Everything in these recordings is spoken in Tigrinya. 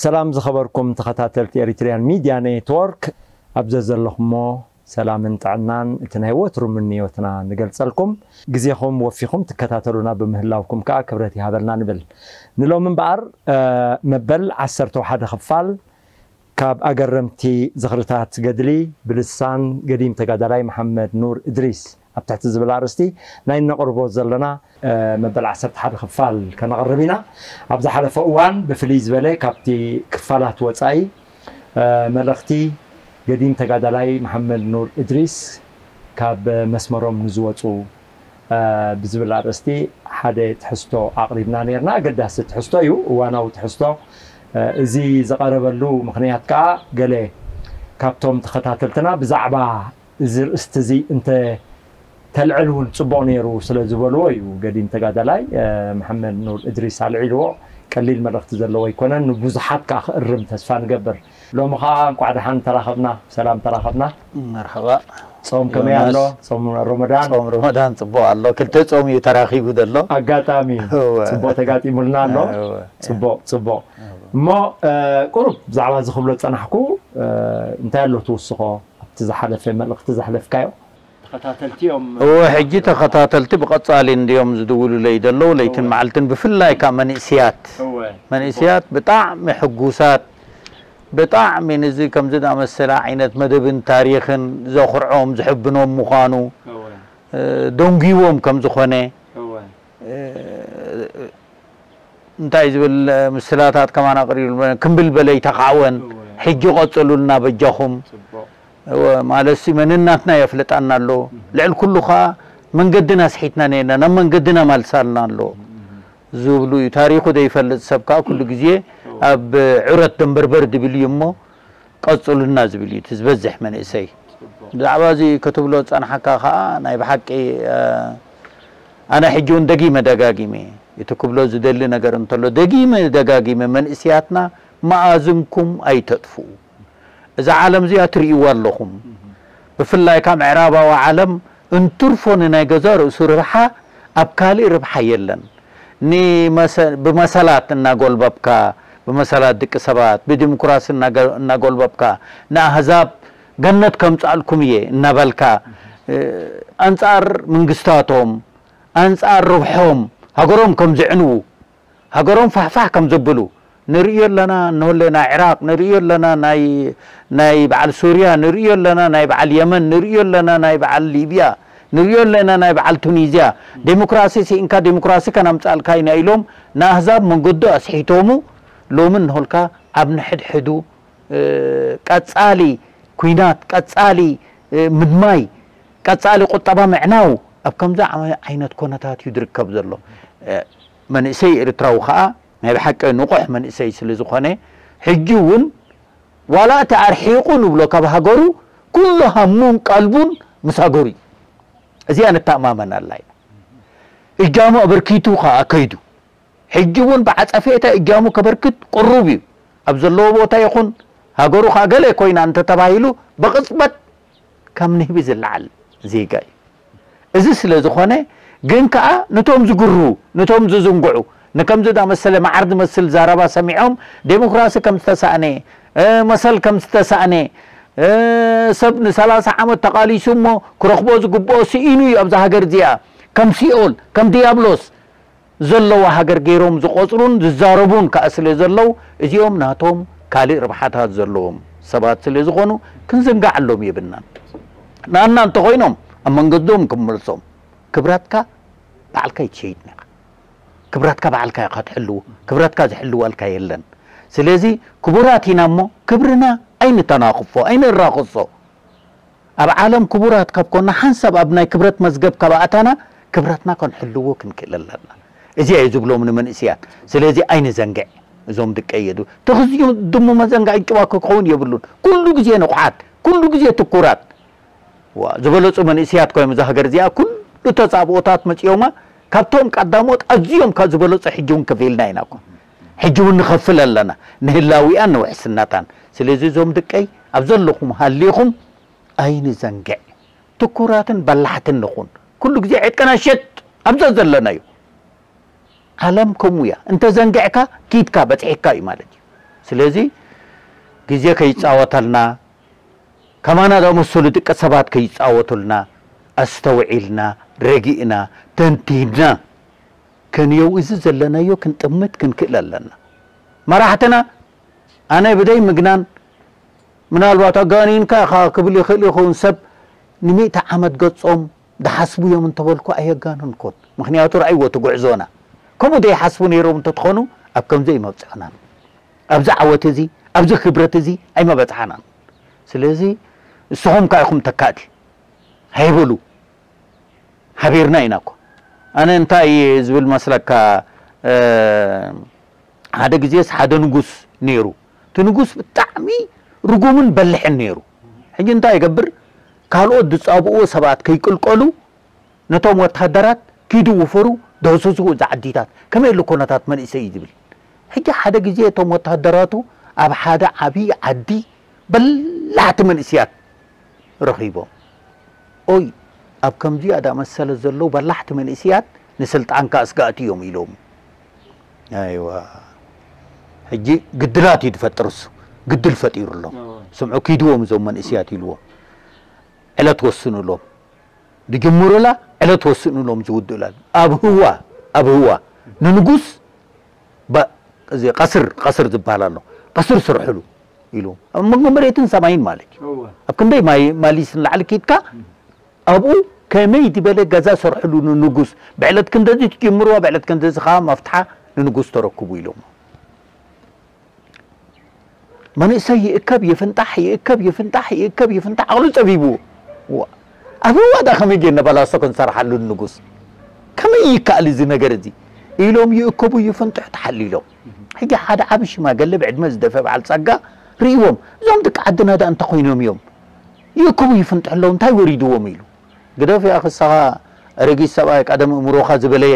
ሰላም ዝኸበርኩም ተኸታተልቲ ኤሪትሪያን ሚድያ ኔትወርክ፣ ኣብ ዘዘለኹሞ ሰላምን ጥዕናን እቲ ናይ ወትሩ ምንዮትና ንገልጸልኩም። ግዜኹም ወፊኹም ትከታተሉና ብምህላውኩም ከኣ ክብረት ይሃበልና ንብል። ንሎሚ እምበኣር፣ እ፣ መበል ዓሰርተ ሓደ ክፋል ካብ ኣገረምቲ ዝኽርታት ገድሊ ብልሳን ገዲም ተጋዳላይ መሓመድ ኑር እድሪስ ኣብ ትሕቲ ዝብል ኣርእስቲ ናይ እነቕርቦ ዘለና፣ እ፣ መበል ዓሰርተ ሓደ ክፋል ከነቕርብ ኢና። ኣብ ዝሓለፈ እዋን ብፍልይ ዝበለ ካብቲ ክፋላት ወጻኢ፣ እ፣ መልእኽቲ ገዲም ተጋዳላይ መሓመድ ኑር እድሪስ ካብ መስመሮም ንዝወጹ፣ እ፣ ብዝብል ኣርእስቲ ሓደ ትሕዝቶ ኣቕሪብና ነይርና። ኣገዳሲ ትሕዝቶ እዩ፣ እዋናዊ ትሕዝቶ። እ፣ እዚ ዝቐረበሉ ምኽንያት ከኣ ገለ ካብቶም ተኸታተልትና ብዛዕባ እዚ ርእስቲ እዚ እንተ ተልዕል እውን ጽቡቕ ነይሩ ስለ ዝበልዎ እዩ። ገዲም ተጋዳላይ፣ እ፣ መሓመድ ኑር እድሪስ ኣልዒልዎ። ቀሊል መልእኽቲ ዘለዎ ኣይኮነን፣ ንብዙሓት ከኣ ክእርም ተስፋ ንገብር። ሎሚ ከኣ እንቋዕ ደሓን ተራኸብና፣ ሰላም ተራኸብና። መርሓባ። ጾም ከመይ ኣሎ? ዮናስ። ጾም ረመዳን? ጾም ረመዳን ጽቡቕ ኣሎ። ክልተ ጾም እዩ ተራኺቡ ዘሎ። ኣጋጣሚ እወ። ጽቡቕ ተጋጢሙልና ኣሎ። እወ። ጽቡቕ፣ ጽቡቕ። እሞ፣ እ፣ ቁሩብ ብዛዕባ እዚ ክብሎ ዝጸናሕኩ፣ እ፣ እንታይ ኣሎ ትውስኾ ኣብቲ ዝሓለፈ መልእኽቲ ዘሕለፍካዮ? ተኸታተልቲ እዮም። እወ፣ ሕጂ ተኸታተልቲ ብቐጻሊ እንድዮም ዝድውሉለይ ዘለዉ፣ ለይትን እወ። መዓልትን፣ ብፍላይ ካብ መንእስያት። እወ። መንእስያት ብጣዕሚ ሕጉሳት፣ ብጣዕሚ ንዚ ከምዚ ዝኣመሰለ ዓይነት መደብን ታሪኽን ዘኹርዖም፣ ዝሕብኖም ምዃኑ፣ እወ። እ፣ ደንጒዎም ከም ዝኾነ፣ እወ። እ፣ እንታይ ዝብል ምስላታት ከማን ኣቕሪቡ፣ ክምብል በለ ይተኻዕወን። እወ። ሕጂ ቀጽሉልና በጃኹም። ጽቡቕ። እወ፣ ማለትሲ መንነትና የፍልጣና ኣሎ። እህ። ልዕሊ ኩሉ ኸኣ መንገድና ስሒትና ነይርና፣ ናብ መንገድና ማልሳልና ኣሎ። እህ። ዝብሉ እዩ። ታሪኹ ዘይፈልጥ ሰብ ከኣ ኩሉ ግዜ እወ። ኣብ ዑረት ደንበርበር ዝብል እዩ እሞ፣ ቀጽሉና ዝብል እዩ እቲ ዝበዝሕ መንእሰይ። ጽቡቕ። ብዛዕባ እዚ ክትብሎ ዝጸንሓካ ከኣ ናይ ብሓቂ፣ እ፣ ኣነ ሕጂ እውን ደጊመ ደጋጊመ እቲ ክብሎ ዝደሊ ነገር እንተሎ፣ ደጊመ ደጋጊመ መንእስያትና መኣዝንኩም ኣይተጥፍኡ። እዛ ዓለም እዚኣ ትርእይዋ ኣለኹም። ብፍላይ ካብ ምዕራባዊ ዓለም እንትርፎ ንናይ ገዛ ርእሱ ርብሓ ኣብ ካልእ ርብሓ የለን። ንመሰ-፣ ብመሰላት እናጎልበብካ፣ ብመሰላት ደቂ ሰባት፣ ብዲሞክራሲ እናገ-፣ እናጎልበብካ፣ ንኣህዛብ ገነት ከምጽኣልኩም እየ እናበልካ፣ እ፣ ኣንጻር መንግስታቶም፣ ኣንጻር ርብሖም፣ ሃገሮም ከም ዝዕንዉ፣ ሃገሮም ፋሕፋሕ ከም ዘብሉ ንርእዮ ኣለና። እንሆለ ናይ ዕራቕ ንርእዮ ኣለና፣ ናይ፣ ናይ በዓል ሱርያ ንርእዮ ኣለና፣ ናይ በዓል የመን ንርእዮ ኣለና፣ ናይ በዓል ሊብያ ንርእዮ ኣለና፣ ናይ በዓል ቱኒዝያ። ዴሞክራሲ ስኢንካ ዴሞክራሲ ከነምጻልካ ኢና ኢሎም ንኣህዛብ መንገዱ ኣስሒቶሙ። ሎሚ እንሆልካ ኣብ ንሕድሕዱ፣ እ፣ ቀጻሊ ኲናት፣ ቀጻሊ፣ እ፣ ምድማይ፣ ቀጻሊ ቁጠባ ምዕናው ኣብ ከምዚ ዓመ-፣ ዓይነት ኮነታት እዩ ዝርከብ ዘሎ። እ፣ መንእሰይ ኤርትራዊ ኸኣ ናይ ብሓቂ ንቑሕ መንእሰይ ስለ ዝኾነ፣ ሕጂ እውን ዋላ እቲ ኣርሒቑ ንብሎ ካብ ሃገሩ፣ ኩሉ ሃሙን ቀልቡን ምስ ሃገሩ እዩ። እዚኣ ንተኣማመናላ ኢና። እጃሙ ኣበርኪቱ ኸኣ ከይዱ። ሕጂ እውን ብዓጸፌታ እጃሙ ከበርክት ቅሩብ እዩ። ኣብ ዘለዎ ቦታ ይኹን፣ ሃገሩ ኸኣ ገለ ኮይና እንተተባሂሉ፣ ብቕጽበት ካብ ንህቢ ዝለዓል ዜጋ እዩ። እዚ ስለ ዝኾነ ግን ከኣ ነቶም ዝግሩ፣ ነቶም ዝዝንግዑ፣ ንከምዚ ዝኣመሰለ መዓር ዝመስል ዘረባ ሰሚዖም ዴሞክራሲ ከም ዝተሳእነ፣ እ፣ መሰል ከም ዝተሳእነ፣ እ፣ ሰብ ንሰላሳ ዓመት ተቓሊሱ እሞ ክረኽቦ ዝግብኦ ስኢኑ እዩ ኣብዛ ሃገር እዚኣ። ከም ሲኦል፣ ከም ዲያብሎስ ዘለዋ ሃገር ገይሮም ዝቖጽሩን ዝዛረቡን ከኣ ስለ ዘለዉ፣ እዚኦም ናቶም ካልእ ረብሓታት ዘለዎም ሰባት ስለ ዝኾኑ ክንዝንግዓሎም የብልናን። ንኣና እንተኾይኖም ኣብ መንገዶም ክንመልሶም። ክብረትካ ባዕልካ ኣይትሸይጥን ኢኻ። ክብረትካ ባዕልካ ኢኻ ትሕልዎ። ክብረትካ ዝሕልወልካ የለን። ስለዚ ክቡራት ኢና እሞ ክብርና ኣይንተናኽፎ፣ ኣይንራኽሶ። ኣብ ዓለም ክቡራት ካብ ኮና ሓንሳብ ኣብ ናይ ክብረት መዝገብ ካብ ኣእታና ክብረትና ከንሕልዎ ክንክእል ኣለና። እዚ እዩ ዝብሎም ንመንእስያት። ስለዚ ኣይንዘንግዕ። እዞም ድቀየዱ ተኽዝዩ ድሙ መዘንጋዒ ጭዋ ክኸውን የብሉን። ኩሉ ግዜ ንቑሓት፣ ኩሉ ግዜ ትኩራት። ዋ፣ ዝበለጹ መንእስያት ኮይኖም እዛ ሃገር እዚኣ ኩሉ ተጻብኦታት መጺኦማ። ካብቶም ቀዳሞት ኣዝዮም ካብ ዝበለጹ ሕጂ እውን ከፊልና ኢና እኮ። ሕጂ እውን ንኸፍል ኣለና ንህላዊኣን ንውሕስነታን። ስለዚ እዞም ድቀይ ኣብ ዘለኹም ሃሊኹም ኣይንዘንግዕ። ትኩራትን በላሕትን ንኹን። ኩሉ ግዜ ዕጥቅና ሽጥ ኣብዛ ዘለናዮ። ዓለም ከምኡ እያ። እንተ ዘንጊዕካ ኪድካ በጺሕካ እዩ ማለት እዩ። ስለዚ ግዜ ከይጻወተልና፣ ከማና ዝኣመሰሉ ደቂ ሰባት ከይጻወቱልና፣ ኣስተውዒልና፣ ረጊእና፣ ተንቲንና ክንየው እዚ ዘለናዮ ክንጥምት ክንክእል ኣለና። መራሕትና ኣነ ብደይ ምግናን ምናልባት ኣጋኒንካ ኢኻ ክብል ይኽእል ይኸውን። ሰብ ንሚእቲ ዓመት ገጾም ዝሓስቡ እዮም እንተበልኩ ኣየጋነንኩን። ምኽንያቱ ረኣይዎ እቲ ጉዕዞና። ከምኡ ዘይሓስቡ ነይሮም እንተትኾኑ ኣብ ከምዚ ኣይመብጽዕናን። ኣብዚ ዓወት እዚ፣ ኣብዚ ክብረት እዚ ኣይመበጽሓናን። ስለዚ ንስኹም ከኣ ኢኹም ተካእቲ። ሃይ በሉ። ሓቢርና ኢና እኮ። ኣነ እንታይ እየ ዝብል መስለካ፣ እ፣ ሓደ ግዜስ ሓደ ንጉስ ነይሩ። እቲ ንጉስ ብጣዕሚ ርጉምን በልሕን ነይሩ። ሕጂ እንታይ ይገብር? ካልኦት ዝጻብእዎ ሰባት ከይቅልቀሉ ነቶም ወተሃደራት ኪዱ ውፈሩ፣ ደህስሱ እዚ ዓዲታት። ከመይ ኣሎ ኩነታት መንእሰይ እዩ ዝብል። ሕጂ ሓደ ግዜ እቶም ወተሃደራቱ ኣብ ሓደ ዓብዪ ዓዲ በላሕቲ መንእስያት ረኺቦም። ኦይ፣ ኣብ ከምዚኣ ዳመሰለ ዘለዉ በላሕቲ መንእስያት ንስልጣንካ ኣስጋእቲ እዮም ኢሎም። ኣይዋ፣ ሕጂ ግድላት እዩ ዝፈጥር እሱ። ግድል ፈጢሩ ኣሎ። እዎ። ስምዑ፣ ኪድዎም እዞም መንእስያት ኢልዎም። ዕለት ወስኑሎም። ዝጅምሩላ ዕለት ወስኑሎም ዝውድኡላ። ኣብ ህዋ፣ ኣብ ህዋ ንንጉስ ባ-፣ እዚ ቀስር፣ ቀስር ዝበሃል ኣሎ። ቀስር ስርሕሉ ኢሉ። ኣብ መንጎ መሬትን ሰማይን ማለት እዩ። እወ። ኣብ ክንደይ ማይ-፣ ማሊስ ንላዕሊ ኪድካ፣ እም። ኣብኡ ከመይ ዝበለ ገዛ ስርሕሉ ንንጉስ። ብዕለት ክንደዚ ትጅምርዋ፣ ብዕለት ክንደዚ ኸዓ መፍትሓ ንንጉስ ተረክቡ ኢሎም። መንእሰይ ይእከብ ይፍንጣሕ፣ ይእከብ ይፍንጣሕ፣ ይእከብ ይፍንጣሕ፣ ዓቕሉ ጸቢቡ። ዋ፣ ኣብ ህዋ ዳ ከመይ ጌርና ባላሶ ክንሰርሓሉ ንጉስ? ከመይ ይከኣል እዚ ነገር እዚ? ኢሎም ይእከቡ ይፍንጥሑ ተሓሊሎም። ሕጂ ሓደ ዓቢ ሽማግለ ብዕድመ ዝደፈ በዓል ጸጋ ርእይዎም፣ "እዞም ደቂ ዓድና ዳ እንታይ ኮይኖም እዮም? ይእከቡ ይፍንጥሑ ኣለዉ፣ እንታይ ወሪድዎም?" ኢሉ። "ግደፍ ያኺ፣ ንስኻ ኣረጊት ሰብኣይ ቀደም እምሮኻ ዝበለየ፣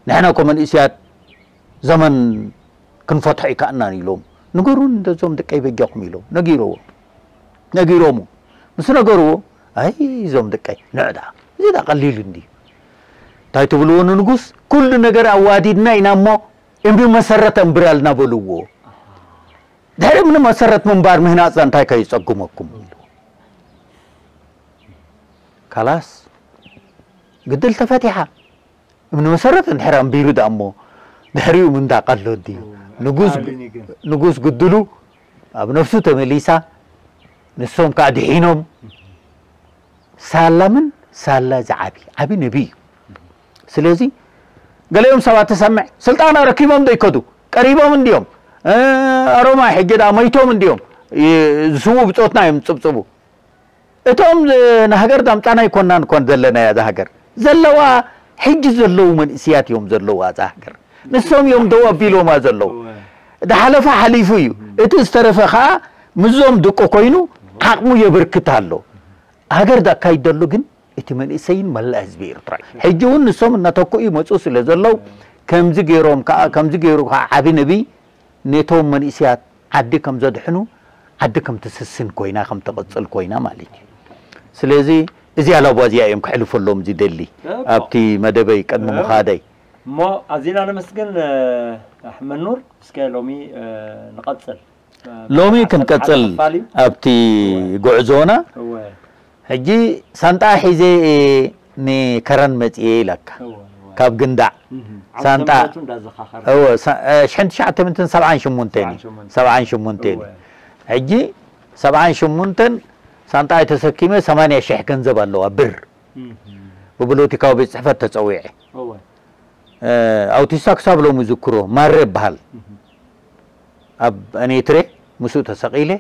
ንሕና እኮ መንእስያት ዘመን ክንፈትሖ ኣይከኣልናን" ኢሎም። "ንገሩን እንዶ እዞም ደቀይ በጃኹም" ኢሎም ነጊሮዎ-፣ ነጊሮሙ። ምስ ነገርዎ፣ "ኣይ እዞም ደቀይ፣ ንዕ ደኣ፣ እዚ ደኣ ቀሊል እንድዩ። እንታይ ትብልዎ ንንጉስ? ኩሉ ነገር ኣዋዲድና ኢና እሞ እምቢ መሰረት ኣንብራልና" በልዎ። "ድሕሪ እምኒ መሰረት ምንባር ምህናጽ እንታይ ከየጸግመኩም?" ኢሉ። ካላስ፣ ግድል ተፈቲሓ። እምኒ መሰረት እንድሕር ኣንቢሩ ደኣ እሞ ድሕሪኡ ምንዳቕ ኣሎ ድዩ? እዎ፣ ንጉስ፣ ኣታሃሊኒ ግን። ንጉስ ግድሉ ኣብ ነፍሱ ተመሊሳ፣ ንሶም ከኣ ድሒኖም። ሳላ ምን ሳላ ዝዓቢ፣ ዓቢ ነቢ እዩ። ስለዚ ገሊኦም ሰባት ትሰምዕ፣ ስልጣን ኣረኪቦም ዶ ይከዱ? ቀሪቦም እንድዮም። እ፣ ኣሮማይ ሕጂ ደኣ መይቶም እንድዮም። ይ-፣ ዝስዉ ብጾትና እዮም ዝጽብጽቡ። እቶም፣ እ፣ ንሃገር ዳምጻና ኣይኮናን እኮ ዘለናያ እዛ ሃገር። ዘለዋ፣ ሕጂ ዘለዉ መንእስያት እዮም ዘለዋ እዛ ሃገር። ንሶም እዮም ደው ኣቢሎማ ዘለዉ። እወ። ዝሓለፈ ሓሊፉ እዩ። እቲ ዝተረፈ ኸኣ ምስዞም ድቂ ኮይኑ ዓቕሙ የበርክት ኣሎ። ሃገር ዘካይድ ዘሎ ግን እቲ መንእሰይን መላእ ህዝቢ ኤርትራ እዩ። ሕጂ እውን ንሶም እናተክኡ ይመጹ ስለ ዘለዉ፣ ከምዚ ገይሮም ከኣ፣ ከምዚ ገይሩ ከኣ ዓቢ ነቢ ነቶም መንእስያት ዓዲ ከም ዘድሕኑ፣ ዓዲ ከም ትስስን ኮይና፣ ከም ትቕጽል ኮይና ማለት እዩ። ስለዚ እዚኣ ላባ እዚኣ እዮም ከሕልፈሎም ዝደሊ እኮ። ኣብቲ መደበይ ቅድሚ እኮ። ምኻደይ። እሞ ኣዚና ነመስግን፣ እ፣ ኣሕመድ ኑር። እስከ ሎሚ፣ እ፣ ንቐጽል። እ፣ ሎሚ ዓሰርተ ክንቀጽል ሓደ ክፋል እዩ። ኣብቲ እወ። ጉዕዞና እወ። ሕጂ ሳንጣ ሒዘ እየ ንከረን መጽየ ኢለካ። እወ፣ እወ። ካብ ግንዳዕ። እህ፣ ሳንጣ። ዓመተ ምህረቱ እንዳዘኻኸረ። እወ፣ ሳ-፣ እ፣ ሽሕን ትሽዓተ ሚእትን ሰብዓን ሸሞንተን እዩ። ሰብዓን ሸሞንተን። ሰብዓን ሸሞንተን እዩ። እወ። ሕጂ ሰብዓን ሸሞንተን ሳንጣ ተሰኪመ ሰማንያ ሽሕ ገንዘብ ኣለዋ ብር። እህ። ብፖለቲካዊ ቤት ጽሕፈት ተጸዊዐ። እወ። እ፣ ኣውቲስታ ክሳብ ሎሚ ዝክሮ፣ ማረ ይበሃል። እህ። ኣብ ኣኔትሬ ምስኡ ተሰቒለ፣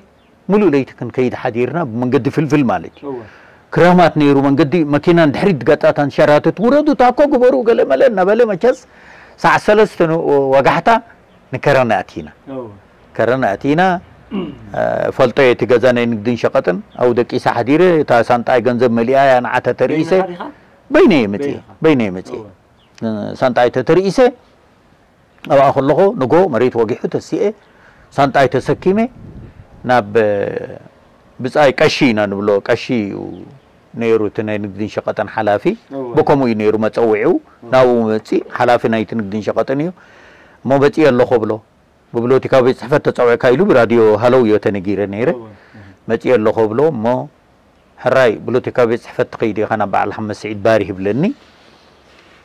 ምሉእ ለይቲ ክንከይድ ሓዲርና፣ ብመንገዲ ፍልፍል ማለት እዩ። እወ። ክራማት ነይሩ መንገዲ፣ መኪና ንድሕሪት ገጻታ ንሸራትት፣ "ውረዱ፣ ታኮ ግበሩ፣ ገለ መለ" እናበለ፣ መቸስ፣ ሰዓት ሰለስተ ን-፣ ወጋሕታ ንከረን ኣቲና። እወ። ከረን ኣቲና፣ እ፣ ፈልጦ እየ እቲ ገዛ ናይ ንግድን ሸቐጥን፣ ኣብኡ ደቂሰ ሓዲረ፣ እታ ሳንጣይ ገንዘብ መሊኣ እያ፣ ንዓ ተተርኢሰ። በይንኻ ዲኻ? በይነይ እየ መጽየ፣ በይንኻ። በይነይ እየ መጽየ። እወ። ሳንጣይ ተተርኢሰ፣ ኣብኣ ከለኹ ንጎ መሬት ወጊሑ ተሲኤ፣ ሳንጣይ ተሰኪመ ናብ ብጻይ ቀሺ ኢና ንብሎ፣ ቀሺ እዩ ነይሩ እቲ ናይ ንግድን ሸቐጥን ሓላፊ። እወ። ብከምኡ እዩ ነይሩ መጸውዒኡ። እወ። ናብኡ መጺእ፣ ሓላፊ ናይቲ ንግድን ሸቐጥን እዩ። እሞ መጺእ ኣለኹ ብሎ። ብብሎቲካ ቤት ጽሕፈት ተጸውዕካ ኢሉ ብራድዮ ሃለው እዮ ተነጊረ ነይረ። መጺኦ ኣለኹ ብሎ እሞ ሕራይ ብሎቲካ ቤት ጽሕፈት ትኸይድ ኢኻ ናብ በዓል ሓመድ ስዒድ ባሪ ይብለኒ።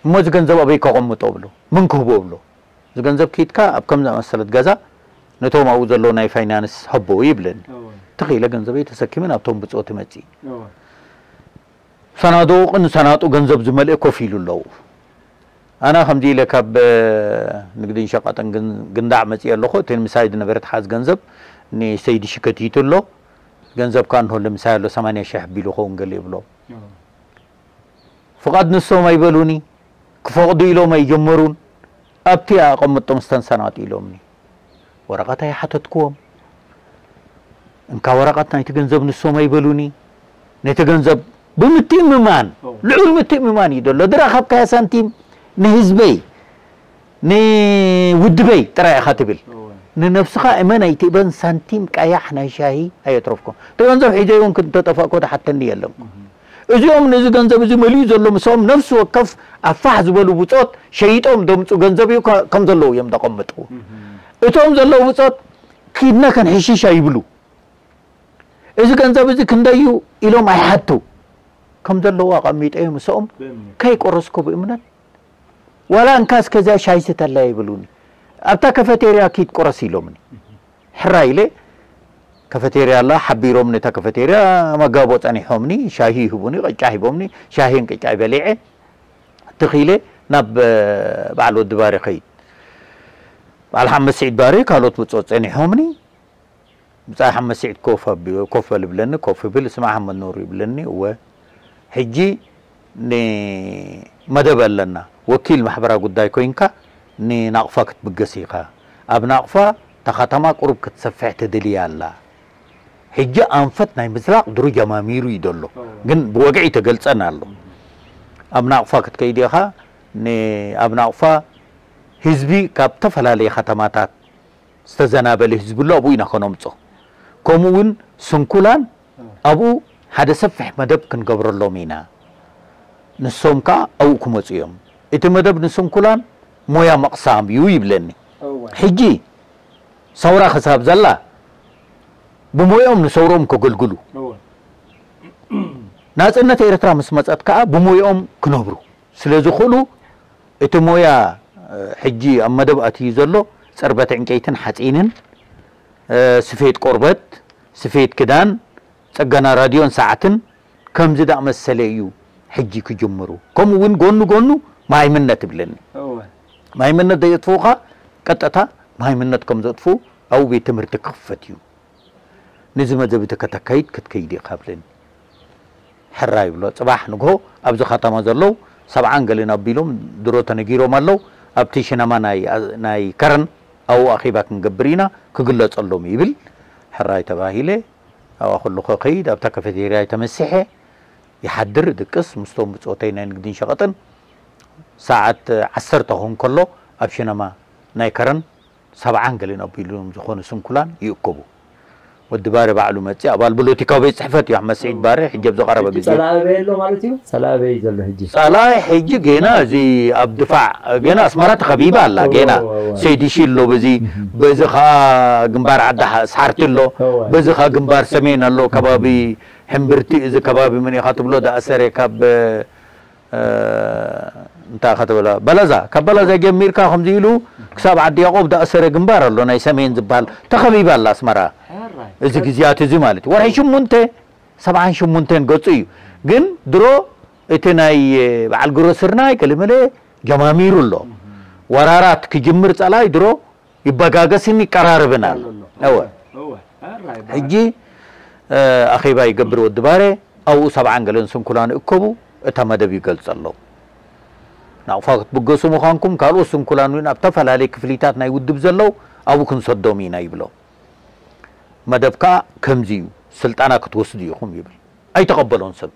እሞ እዚ ገንዘብ ኣበይ ከቐምጦ ብሎ፣ ምን ክህቦ ብሎ። እዚ ገንዘብ ኪድካ ኣብ ከም ዝኣመሰለት ገዛ ነቶም ኣብኡ ዘለዉ ናይ ፋይናንስ ሀቦ ይብለኒ። ትኽኢለ ገንዘበይ ተሰኪመ ናብቶም ብጾት መጺ። ሰናዱቕ ንሰናጡ ገንዘብ ዝመልአ ኮፍ ኢሉ ኣለዉ። ኣነ ከምዚ ኢለ ካብ ንግድን ሸቐጥን ግንዳዕ መጺእ ኣለኹ። እቲ ምሳይ ዝነበረ ተሓዝ ገንዘብ ንሰይዲ ሽከቲቱ ኣሎ። ገንዘብ ከኣ እንሆ ለምሳይ ኣሎ ሰማንያ ሽሕ ቢሉ ኸውን ገለ ይብሎ። ፍቓድ ንሶም ኣይበሉኒ፣ ክፈቕዱ ኢሎም ኣይጀመሩን። ኣብቲ ኣቐምጦም ስተን ሰናጡ ኢሎምኒ። ወረቐት ኣይሓተትክዎም። እንካ ወረቐት ናይቲ ገንዘብ ንሶም ኣይበሉኒ። ነቲ ገንዘብ ብምትእምማን፣ ልዑል ምትእምማን እዩ ዘሎ። ድረኸብካያ ሳንቲም ንህዝበይ፣ ንውድበይ ጥራይ ኢኻ ትብል። ንነብስኻ እመን ኣይትእበን፣ ሳንቲም ቀያሕ ናይ ሻሂ ኣየትረፍኩም። እቲ ገንዘብ ሒዘ እውን እንተጠፋእኮ ዝሓተኒ የለን። እዚኦም ነዚ ገንዘብ እዚ መሊኡ ዘሎ ምስኦም ነፍሲ ወከፍ ኣብ ፋሕ ዝበሉ ብጾት ሸይጦም ዘምጹ ገንዘብ እዩ ከ-፣ ከም ዘለዉ እዮም ዘቐምጡ። እቶም ዘለዉ ብጾት ኪድና ከንሕሽሽ ኣይብሉ። እዚ ገንዘብ እዚ ክንደይ እዩ ኢሎም ኣይሓቱ። ከም ዘለዉ ኣቐሚጠ ምስኦም ከይቆረስኩ ብእምነት ዋላ እንካ እስከዚኣ ሻይ ስተላ ይብሉኒ። ኣብታ ካፈቴርያ ኪድ ቁረስ ኢሎምኒ። ሕራይ ኢለ ካፈቴርያ ኣላ ሓቢሮም ነታ ካፈቴርያ መጋቦ ጸኒሖምኒ፣ ሻሂ ይህቡኒ፣ ቅጫ ሂቦምኒ፣ ሻሂን ቅጫ በሊዐ። ትኺለ ናብ በዓል ወዲ ባሪ ኸይድ። በዓል ሓመድ ስዒድ ባሪ ካልኦት ብጾት ጸኒሖምኒ። ብጻይ ሓመድ ስዒድ ኮፍ ኣቢ-፣ ኮፍ በል ብለኒ፣ ኮፍ ይብል፣ ስማዕ ሓመድ ኑር ይብለኒ፣ እወ። ሕጂ ንመደብ ኣለና፣ ወኪል ማሕበራዊ ጉዳይ ኮይንካ ንናቕፋ ክትብገስ ኢኻ። ኣብ ናቕፋ እታ ከተማ ቁሩብ ክትሰፍሕ ትድልያ ኣላ። ሕጂ ኣንፈት ናይ ምዝላቕ ድሮ ጀማሚሩ እዩ ዘሎ፣ ግን ብወግዒ ተገልጸን ኣሎ። ኣብ ናቕፋ ክትከይድ ኢኻ፣ ን-፣ ኣብ ናቕፋ ህዝቢ ካብ ዝተፈላለየ ከተማታት ዝተዘናበለ ህዝቢ ኣሎ፣ ኣብኡ ኢና ከነምጾ። ከምኡ እውን ስንኩላን ኣብኡ ሓደ ሰፊሕ መደብ ክንገብረሎም ኢና። ንሶም ከኣ ኣብኡ ክመጹ እዮም። እቲ መደብ ንስንኩላን ሞያ መቕሳም እዩ ይብለኒ። ሕጂ ሰውራ ክሳብ ዘላ ብሞያኦም ንሰውሮም ከገልግሉ፣ ናጽነት ኤርትራ ምስ መጸት ከኣ ብሞያኦም ክነብሩ ስለ ዝኽእሉ፣ እቲ ሞያ፣ እ፣ ሕጂ ኣብ መደብ ኣትዩ ዘሎ ጽርበት ዕንጨይትን ሓጺንን፣ እ፣ ስፌት ቆርበት፣ ስፌት ክዳን፣ ጽገና ራድዮን ሰዓትን ከምዚ ዝኣመሰለ እዩ ሕጂ ክጅምሩ። ከምኡ እውን ጎኑ ጎኑ መሃይምነት ይብለኒ። እወ። መሃይምነት ዘየጥፍኡኻ ቀጥታ መሃይምነት ከም ዘጥፍኡ ኣብኡ ቤት ትምህርቲ ክኽፈት እዩ። ነዚ መደብ እዚ ከተካይድ ክትከይድ ኢኻ ብለኒ። ሕራይ ይብሎ። ጽባሕ ንግሆ ኣብዚ ከተማ ዘለዉ ሰብዓን ገለን ኣቢሎም ድሮ ተነጊሮም ኣለዉ። ኣብቲ ሽነማ ናይ፣ ናይ ከረን ኣብኡ ኣኼባ ክንገብር ኢና፣ ክግለጸሎም ይብል። ሕራይ ተባሂለ። ኣብኣ ከለኹ ከይድ፣ ኣብታ ካፌቴርያ ተመሲሐ ይሓድር፣ ድቅስ ምስቶም ብጾተይ ናይ ንግድን ሸቐጥን። ሰዓት ዓሰርተ ክኸውን ከሎ ኣብ ሽነማ ናይ ከረን ሰብዓን ገለን ኣቢሎም ዝኾኑ ስንኩላን ይእከቡ። ወዲ ባሬ ባዕሉ መጺእ፣ ኣባል ፖለቲካዊ ቤት ጽሕፈት እዩ፣ ኣሕመድ ስዒድ ባሬ፣ ሕጂ ኣብ ዝቐረበ ግዜ። ጸላኢ ኣበይ ኣሎ ማለት እዩ? ጸላኢ ኣበይ ዘሎ ሕጂ? ጸላኢ ሕጂ ጌና እዚ ኣብ ድፋዕ፣ ጌና ኣስመራ ተኸቢባ ኣላ፣ እወ፣ ጌና እወ፣ እወ። ሰይዲ ሺ ኣሎ፣ በዚ፣ እህ። በዚ ኸኣ ግንባር ዓዲ ሓ-፣ ሳሕርቲ ኣሎ፣ እወ። በዚ ኸኣ ግንባር ሰሜን ኣሎ፣ ከባቢ ሕምብርቲ፣ እዚ ከባቢ መን ኢኻ ትብሎ፣ ዳእሰረ ካብ እ፣ እንታይ ኢኻ ትብላ? በለዛ፣ ካብ በለዛ ጀሚርካ ከምዚ ኢሉ ክሳብ ዓዲ ያዕቆብ ዝኣሰረ ግንባር ኣሎ፣ ናይ ሰሜን ዝበሃል። ተኸቢባ ኣላ ኣስመራ። ሕራይ። እዚ ግዜያት እዚ ማለት እዩ። ወርሒ ሽሙንተ፣ ሰብዓን ሽሙንተን ገጹ እዩ። ግን ድሮ እቲ ናይ በዓል ግብረ ስርናይ ገለመለ ጀማሚሩ ኣሎ። ወራራት ክጅምር ጸላኢ ድሮ ይበጋገስን ይቀራረብን ኣሎ። ኣሎ። እወ። እወ። ሕራይ በዓል። ሕጂ፣ እ፣ ኣኼባ ይገብር ወዲ ባሬ፣ ኣብኡ ሰብዓን ገለን ስንኩላን ይእከቡ፣ እታ መደብ ይገልጸሎም። ናቕፋ ክትብገሱ ምዃንኩም፣ ካልኦት ስንኩላን እውን ኣብ ተፈላለየ ክፍሊታት ናይ ውድብ ዘለዉ ኣብኡ ክንሰዶም ኢና ይብሎም። መደብ ከኣ ከምዚ እዩ፣ ስልጠና ክትወስዱ ኢኹም ይብል። ኣይተቐበሎን ሰብ።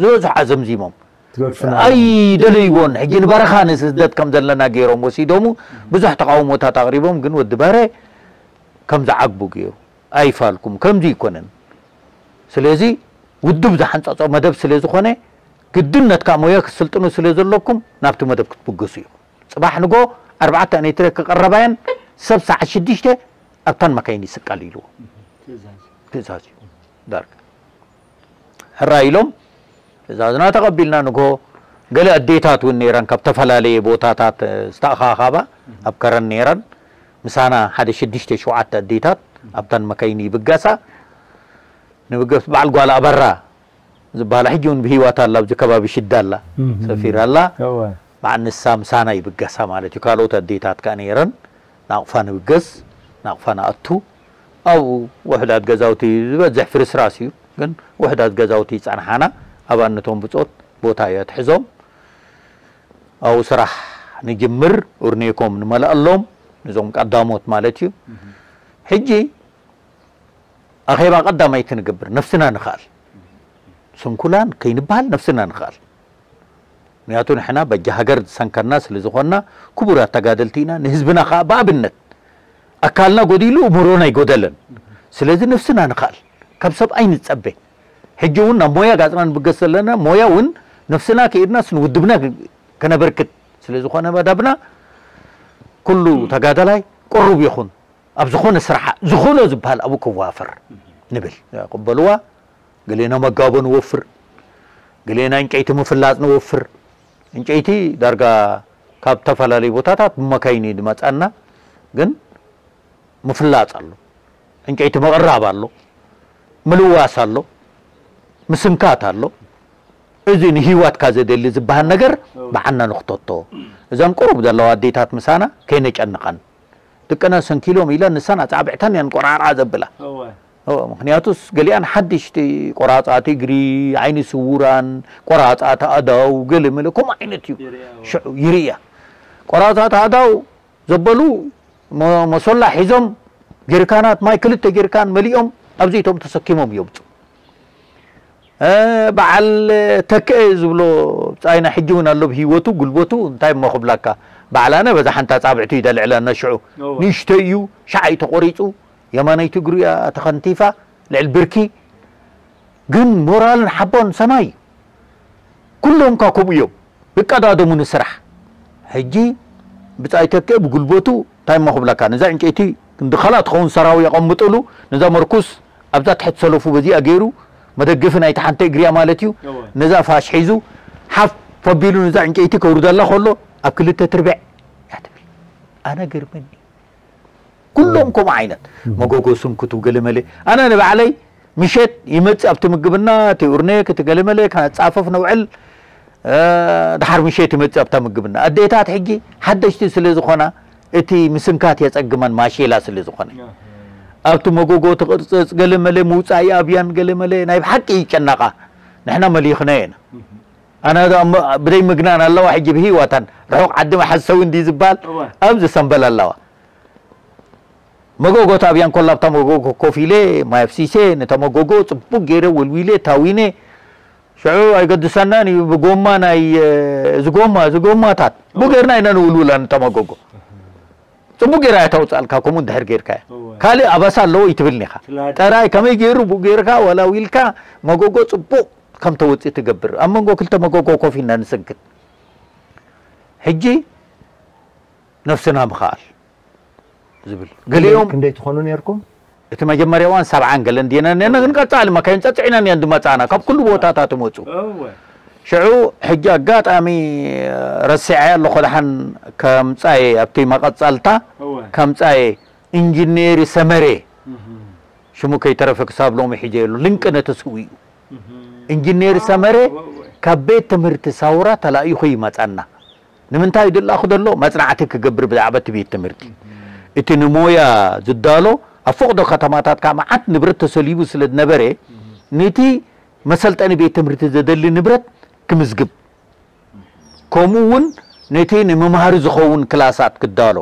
ዝበዝሑ ኣዘምዚሞም። ትገድፉና። ኣይደለይዎን። ሕጂ ንበረኻ ንስደት ከም ዘለና ገይሮም ወሲዶሙ። ብዙሕ ተቃውሞታት ኣቕሪቦም፣ ግን ወዲ ባሬ ከም ዝዓግቡ ገይሩ። ኣይፋልኩም፣ ከምዚ ኣይኮነን። ስለዚ ውድብ ዝሓንጸጾ መደብ ስለ ዝኾነ፣ ግድን ነትካ ሞያ ክትስልጥኑ ስለ ዘለኩም፣ ናብቲ መደብ ክትብገሱ ኢኹም። ጽባሕ ንጎ ኣርባዕተ ኔትረ ክቐረባየን ሰብ ሰዓት ሽዱሽተ ኣብታን መካይን ይስቀል ኢልዎ። ትእዛዝ እዩ ዳርጋ። ሕራይ ኢሎም ትእዛዝና ተቐቢልና ንግሆ ገለ ኣዴታት እውን ነይረን ካብ ዝተፈላለየ ቦታታት ዝተኣኻኻባ ኣብ ከረን ነይረን። ምሳና ሓደ ሽዱሽተ ሸውዓተ ኣዴታት ኣብታን መካይን ይብገሳ። ንብገስ በዓል ጓል ኣበራ ዝበሃላ ሕጂ እውን ብህይወት ኣላ፣ ኣብዚ ከባቢ ሽዳ ኣላ፣ ሰፊራ ኣላ። በዓል ንሳ ምሳና ይብገሳ ማለት እዩ። ካልኦት ኣዴታት ከኣ ነይረን ናቕፋ ንብገስ፣ ናቕፋ ንኣቱ። ኣብኡ ውሕዳት ገዛውቲ ዝበዝሕ ፍርስራስ እዩ፣ ግን ውሕዳት ገዛውቲ ይጸንሓና። ኣብኣነቶም ብጾት ቦታ እያ ትሕዞም። ኣብኡ ስራሕ ንጅምር፣ ኡርኔኮም ንመልኣሎም፣ ነዞም ቀዳሞት ማለት እዩ። ሕጂ ኣኼባ ቀዳማይቲ ንገብር፣ ነፍስና ንኽኣል። ስንኩላን ከይንበሃል ነፍስና ንኽኣል። ምክንያቱ ንሕና በጃ ሃገር ዝሰንከና ስለ ዝኾንና ክቡራት ተጋደልቲ ኢና፣ ንህዝብና ኸኣ ብኣብነት ኣካልና ጎዲሉ እምሮና ኣይጎደለን። ስለዚ ነፍስና ንኽኣል፣ ካብ ሰብ ኣይንጸበ። ሕጂ እውን ናብ ሞያ ጋጽና ንብገስ ዘለና፣ ሞያ እውን ነፍስና ከይድናስ ንውድብና ከነበርክት ስለ ዝኾነ መደብና፣ ኩሉ ተጋዳላይ ቅሩብ ይኹን፣ ኣብ ዝኾነ ስራሕ ዝኾኖ ዝበሃል ኣብኡ ክዋፈር ንብል። ቅበልዋ፣ ገሌና መጋቦ ንወፍር፣ ገሌና ዕንጨይቲ ምፍላጽ ንወፍር። ዕንጨይቲ ዳርጋ ካብ ዝተፈላለዩ ቦታታት ብመካይን እዩ ዝመጻና፣ ግን ምፍላጽ ኣሎ፣ ዕንጨይቲ ምቕራብ ኣሎ፣ ምልዋስ ኣሎ፣ ምስንካት ኣሎ። እዚ ንህይወትካ ዘደሊ ዝበሃል ነገር ብዓና ንኽተቶ። እዘን ቁሩብ ዘለዋ ኣዴታት ምሳና ከይነጨንቐን። ደቅና ሰንኪሎም ኢለን ንሰን ኣጻብዕተን እየን ቆራርዓ ዘብላ። እወ። እወ፣ ምኽንያቱስ ገሊኣን ሓድሽቲ ቆራጻት እግሪ፣ ዓይኒ ስውራን፣ ቆራጻት ኣእዳው፣ ገለ መለ ከምኡ ዓይነት እዩ። ይርእያ፣ እወ። ሽዑ ይርእያ። ቆራጻት ኣእዳው ዘበሉ መ-፣ መሶላ ሒዞም ጀሪካናት ማይ ክልተ ጀሪካን መሊኦም ኣብዚ ኢቶም ተሰኪሞም የውጹ። እ፣ በዓል ተክአ ዝብሎ ብጻይና ሕጂ እውን ኣሎ ብህይወቱ፣ ጉልበቱ፣ እንታይ እሞ ክብላካ። በዓል ኣነ በዛ ሓንቲ ኣጻብዕቱ እዩ ደልዕለና ሽዑ። እወ። ንእሽተይ እዩ፣ ሻዕ እዩ ተቖሪጹ፣ የማነይቲ እግሩ እያ ተኸንቲፋ፣ ልዕል ብርኪ። ግን ሞራልን ሓቦን ሰማይ እዩ። ኩሎም እኳ ከምኡ እዮም፣ ይቀዳደሙ ንስራሕ። ሕጂ ብጻይ ተክአ ብጉልበቱ እንታይ እሞ ክብላካ፣ ነዛ ዕንጨይቲ ክንዲ ካልኣ ትኸውን ሰራዊ የቐምጥሉ፣ ነዛ መርኩስ ኣብዛ ትሕቲ ሰለፉ በዚኣ ገይሩ፣ መደገፊ ናይቲ ሓንቲ እግሪያ ማለት እዩ። እወ። ነዛ ፋሽ ሒዙ፣ ሓፍ ኣቢሉ ነዛ ዕንጨይቲ ከውርደላ ከሎ፣ ኣብ ክልተ ትርብዕ እያ ትብል። ኣነ ገርመኒ። ኩሎም ከምኡ ዓይነት። እም። መጎጎ ስንኩቱ ገለ መለ። ኣነ ንባዕለይ ምሸት ይመጽእ ኣብቲ ምግብና፣ እቲ ኡርኔክ፣ እቲ ገለ መለ፣ ከነጻፍፍ ነውዕል። እ፣ ድሓር ምሸት ይመጽእ ኣብታ ምግብና። ኣዴታት ሕጂ ሓደሽቲ ስለ ዝኾና፣ እቲ ምስንካት የጸግመን ማሼላ ስለ ዝኾነ። ኣህ። ኣብቲ መጎጎ ትቕርጽጽ፣ ገለ መለ ምውጻእ ይኣብያን፣ ገለ መለ ናይ ብሓቂ ይጨነቓ። ንሕና መሊኽናዮ ኢና። እህ። ኣነ ዶ ኣብ መ-፣ ብደይ ምግናን ኣለዋ፣ ሕጂ ብህይወተን ርሑቕ ዓዲ መሓዝ ሰው እንዲ ዝበሃል እወ። ኣብዚ ሰምበል ኣለዋ። መጎጎ ተኣብያን ኮላ ኣብታ መጎጎ ኮፍ ኢለ፣ ማይ ኣፍሲሰ፣ ነታ መጎጎ ጽቡቕ ገይረ ወልዊለ፣ ታዊነ፣ ሽዑ ኣይገድሰናን እዩ፣ ብጎማ ናይ፣ እዚ ጎማ፣ እዚ ጎማታት፣ ብኡ ጌርና ኢና ንውልውላ ነታ መጎጎ። ጽቡቕ ጌራ እያ ተውጽኣልካ፣ ከምኡ እንድሕር ጌርካያ። እወ። ካልእ ኣበሳ ኣለዎ ይትብልኒ ኢኻ። ትላድ-፣ ጥራይ ከመይ ገይሩ ብኡ ጌርካ፣ ወላዊልካ፣ መጎጎ ጽቡቕ ከም ተወጽእ ትገብር። ኣብ መንጎ ክልተ መጎጎ ኮፍ ኢልና ንስንክት። ሕጂ ነፍስና ምኽኣል ዝብል። ክንደይ፣ ገሊኦም ክንደይ ትኾኑ ነርኩም? እቲ መጀመርያ እዋን ሰብዓን ገለን ዲና ነና፣ ግን ቀጻሊ መካይን ጸጽዒና እየን ዝመጻና፣ ካብ ኩሉ ቦታታት ይመጹ። እወ። ሽዑ ሕጂ ኣጋጣሚ ረሲዐ ኣለኹ፣ ደሓን ከምጻየ ኣብቲ መቐጸልታ እወ። ከምጻየ ኢንጂነር ሰመረ፣ እህ። ሽሙ ከይተረፈ ክሳብ ሎሚ ሒጀ የሉ፣ ልንቅነ ተስኡ እዩ። እህ። ኢንጂነር ሰመረ እወ፣ እወ። ካብ ቤት ትምህርቲ ሳውራ ተላኢኹ ይመጻና። ንምንታይ ድላኹ ዘሎ መጽናዕቲ ክገብር ብዛዕባ እቲ ቤት ትምህርቲ። እህ። እቲ ንሞያ ዝዳሎ ኣብ ፈቕዶ ከተማታት ከዓ መዓት ንብረት ተሰሊቡ ስለ ዝነበረ፣ እህ። ነቲ መሰልጠኒ ቤት ትምህርቲ ዘደሊ ንብረት ክምዝግብ፣ ከምኡ እውን ነቲ ንመምሃሪ ዝኸውን ክላሳት ክዳሎ፣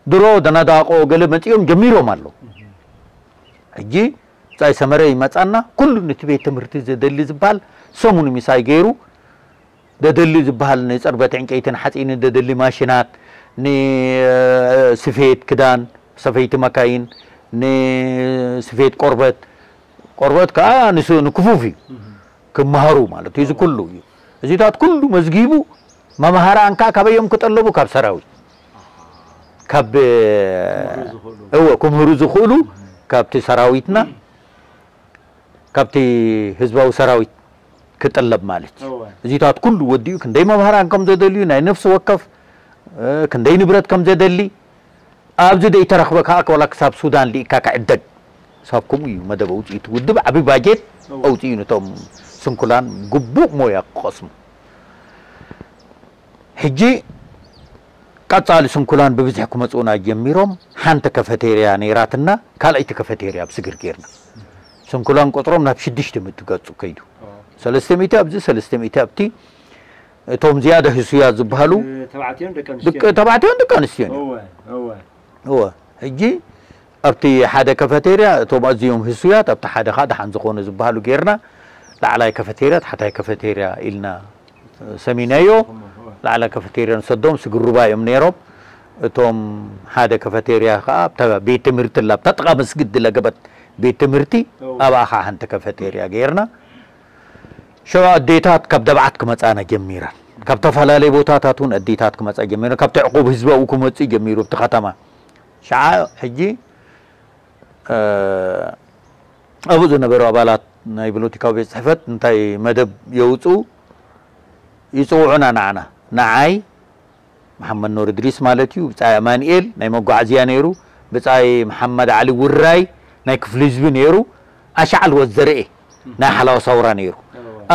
ድሮ ደናዳቆ ገለ መጺኦም ጀሚሮም ኣለዉ። እህ። ሕጂ ብጻይ ሰመረ ይመጻና፣ ኩሉ ነቲ ቤት ትምህርቲ ዘደሊ ዝበሃል ሰሙን ምሳይ ገይሩ፣ ዘደሊ ዝበሃል ንጽርበት ዕንጨይትን ሓጺንን ዘደሊ ማሽናት፣ ንስፌት ክዳን፣ ሰፈይቲ መካይን፣ ንስፌት ቆርበት፣ ቆርበት ከኣ ንሱ ንክፉፍ እዩ። እህ። ክመሃሩ ማለት እዩ። እዚ ኩሉ እዩ። እዚታት ኩሉ መዝጊቡ፣ መምሃራን ከኣ ካበይ እዮም ክጠለቡ? ካብ ሰራዊት። ካብ እወ ክምህሩ ዝኽእሉ ካብቲ ሰራዊትና ካብቲ ህዝባዊ ሰራዊት ክጥለብ ማለት እዩ። እዚታት ኩሉ ወዲኡ ክንደይ መምህራን ከም ዘደልዩ ናይ ነፍሲ ወከፍ ክንደይ ንብረት ከም ዘደሊ ኣብዚ ደይተረኽበ ከዓ ወላ ክሳብ ሱዳን ልኢካ ክዕደግ ሳብ ከምኡ እዩ መደብ ኣውፅኢቱ ውድብ ዓብዪ ባጀት ኣውፅኡ ነቶም ስንኩላን ግቡእ ሞያ ክቐስሙ። ሕጂ ቀፃሊ ስንኩላን ብብዝሒ ክመፁና ጀሚሮም ሓንቲ ከፈቴርያ ነይራትና ካልኣይቲ ከፈቴርያ ኣብ ስግር ጌርና ስንኩላን ቁፅሮም ናብ ሽዱሽተ ምእቲ ገፁ ከይዱ ሰለስተ ሚእቲ ኣብዚ ሰለስተ ሚእቲ ኣብቲ እቶም ዝያደ ህሱያት ዝበሃሉ ተባዕትዮን ደቂ ኣንስትዮን ሕጂ ኣብቲ ሓደ ከፈቴርያ እቶም ኣዝዮም ህሱያት ኣብቲ ሓደ ከዓ ደሓን ዝኾኑ ዝበሃሉ ጌርና ላዕላይ ከፈቴርያ ታሕታይ ከፈቴርያ ኢልና ሰሚናዮ ላዕላይ ከፈቴርያ ንሰዶም ስግሩባ እዮም ነይሮም እቶም ሓደ ከፈቴርያ ከዓ ኣብታ ቤት ትምህርቲ ላ ኣብታ ጥቓ መስጊድ ለገበት ቤት ትምህርቲ ኣብኣ ከዓ ሓንቲ ከፈቴርያ ጌርና ሸዋ ኣዴታት ካብ ደብዓት ክመፃና ጀሚረን ካብ ተፈላለየ ቦታታት እውን ኣዴታት ክመፃ ጀሚረን ካብቲ ዕቁብ ህዝባዊ ክመፅእ ጀሚሩ ኣብቲ ከተማ ሸዓ ሕጂ ኣብኡ ዝነበሩ ኣባላት ናይ ፖለቲካዊ ቤት ፅሕፈት እንታይ መደብ የውፅኡ ይፅውዑና ንዓና ንዓይ መሓመድ ኖር እድሪስ ማለት እዩ ብፃይ ኣማንኤል ናይ መጓዓዝያ ነይሩ ብፃይ መሓመድ ዓሊ ውራይ ናይ ክፍሊ ህዝቢ ነይሩ ኣሻዓል ወዘርኤ ናይ ሓላዋ ሳውራ ነይሩ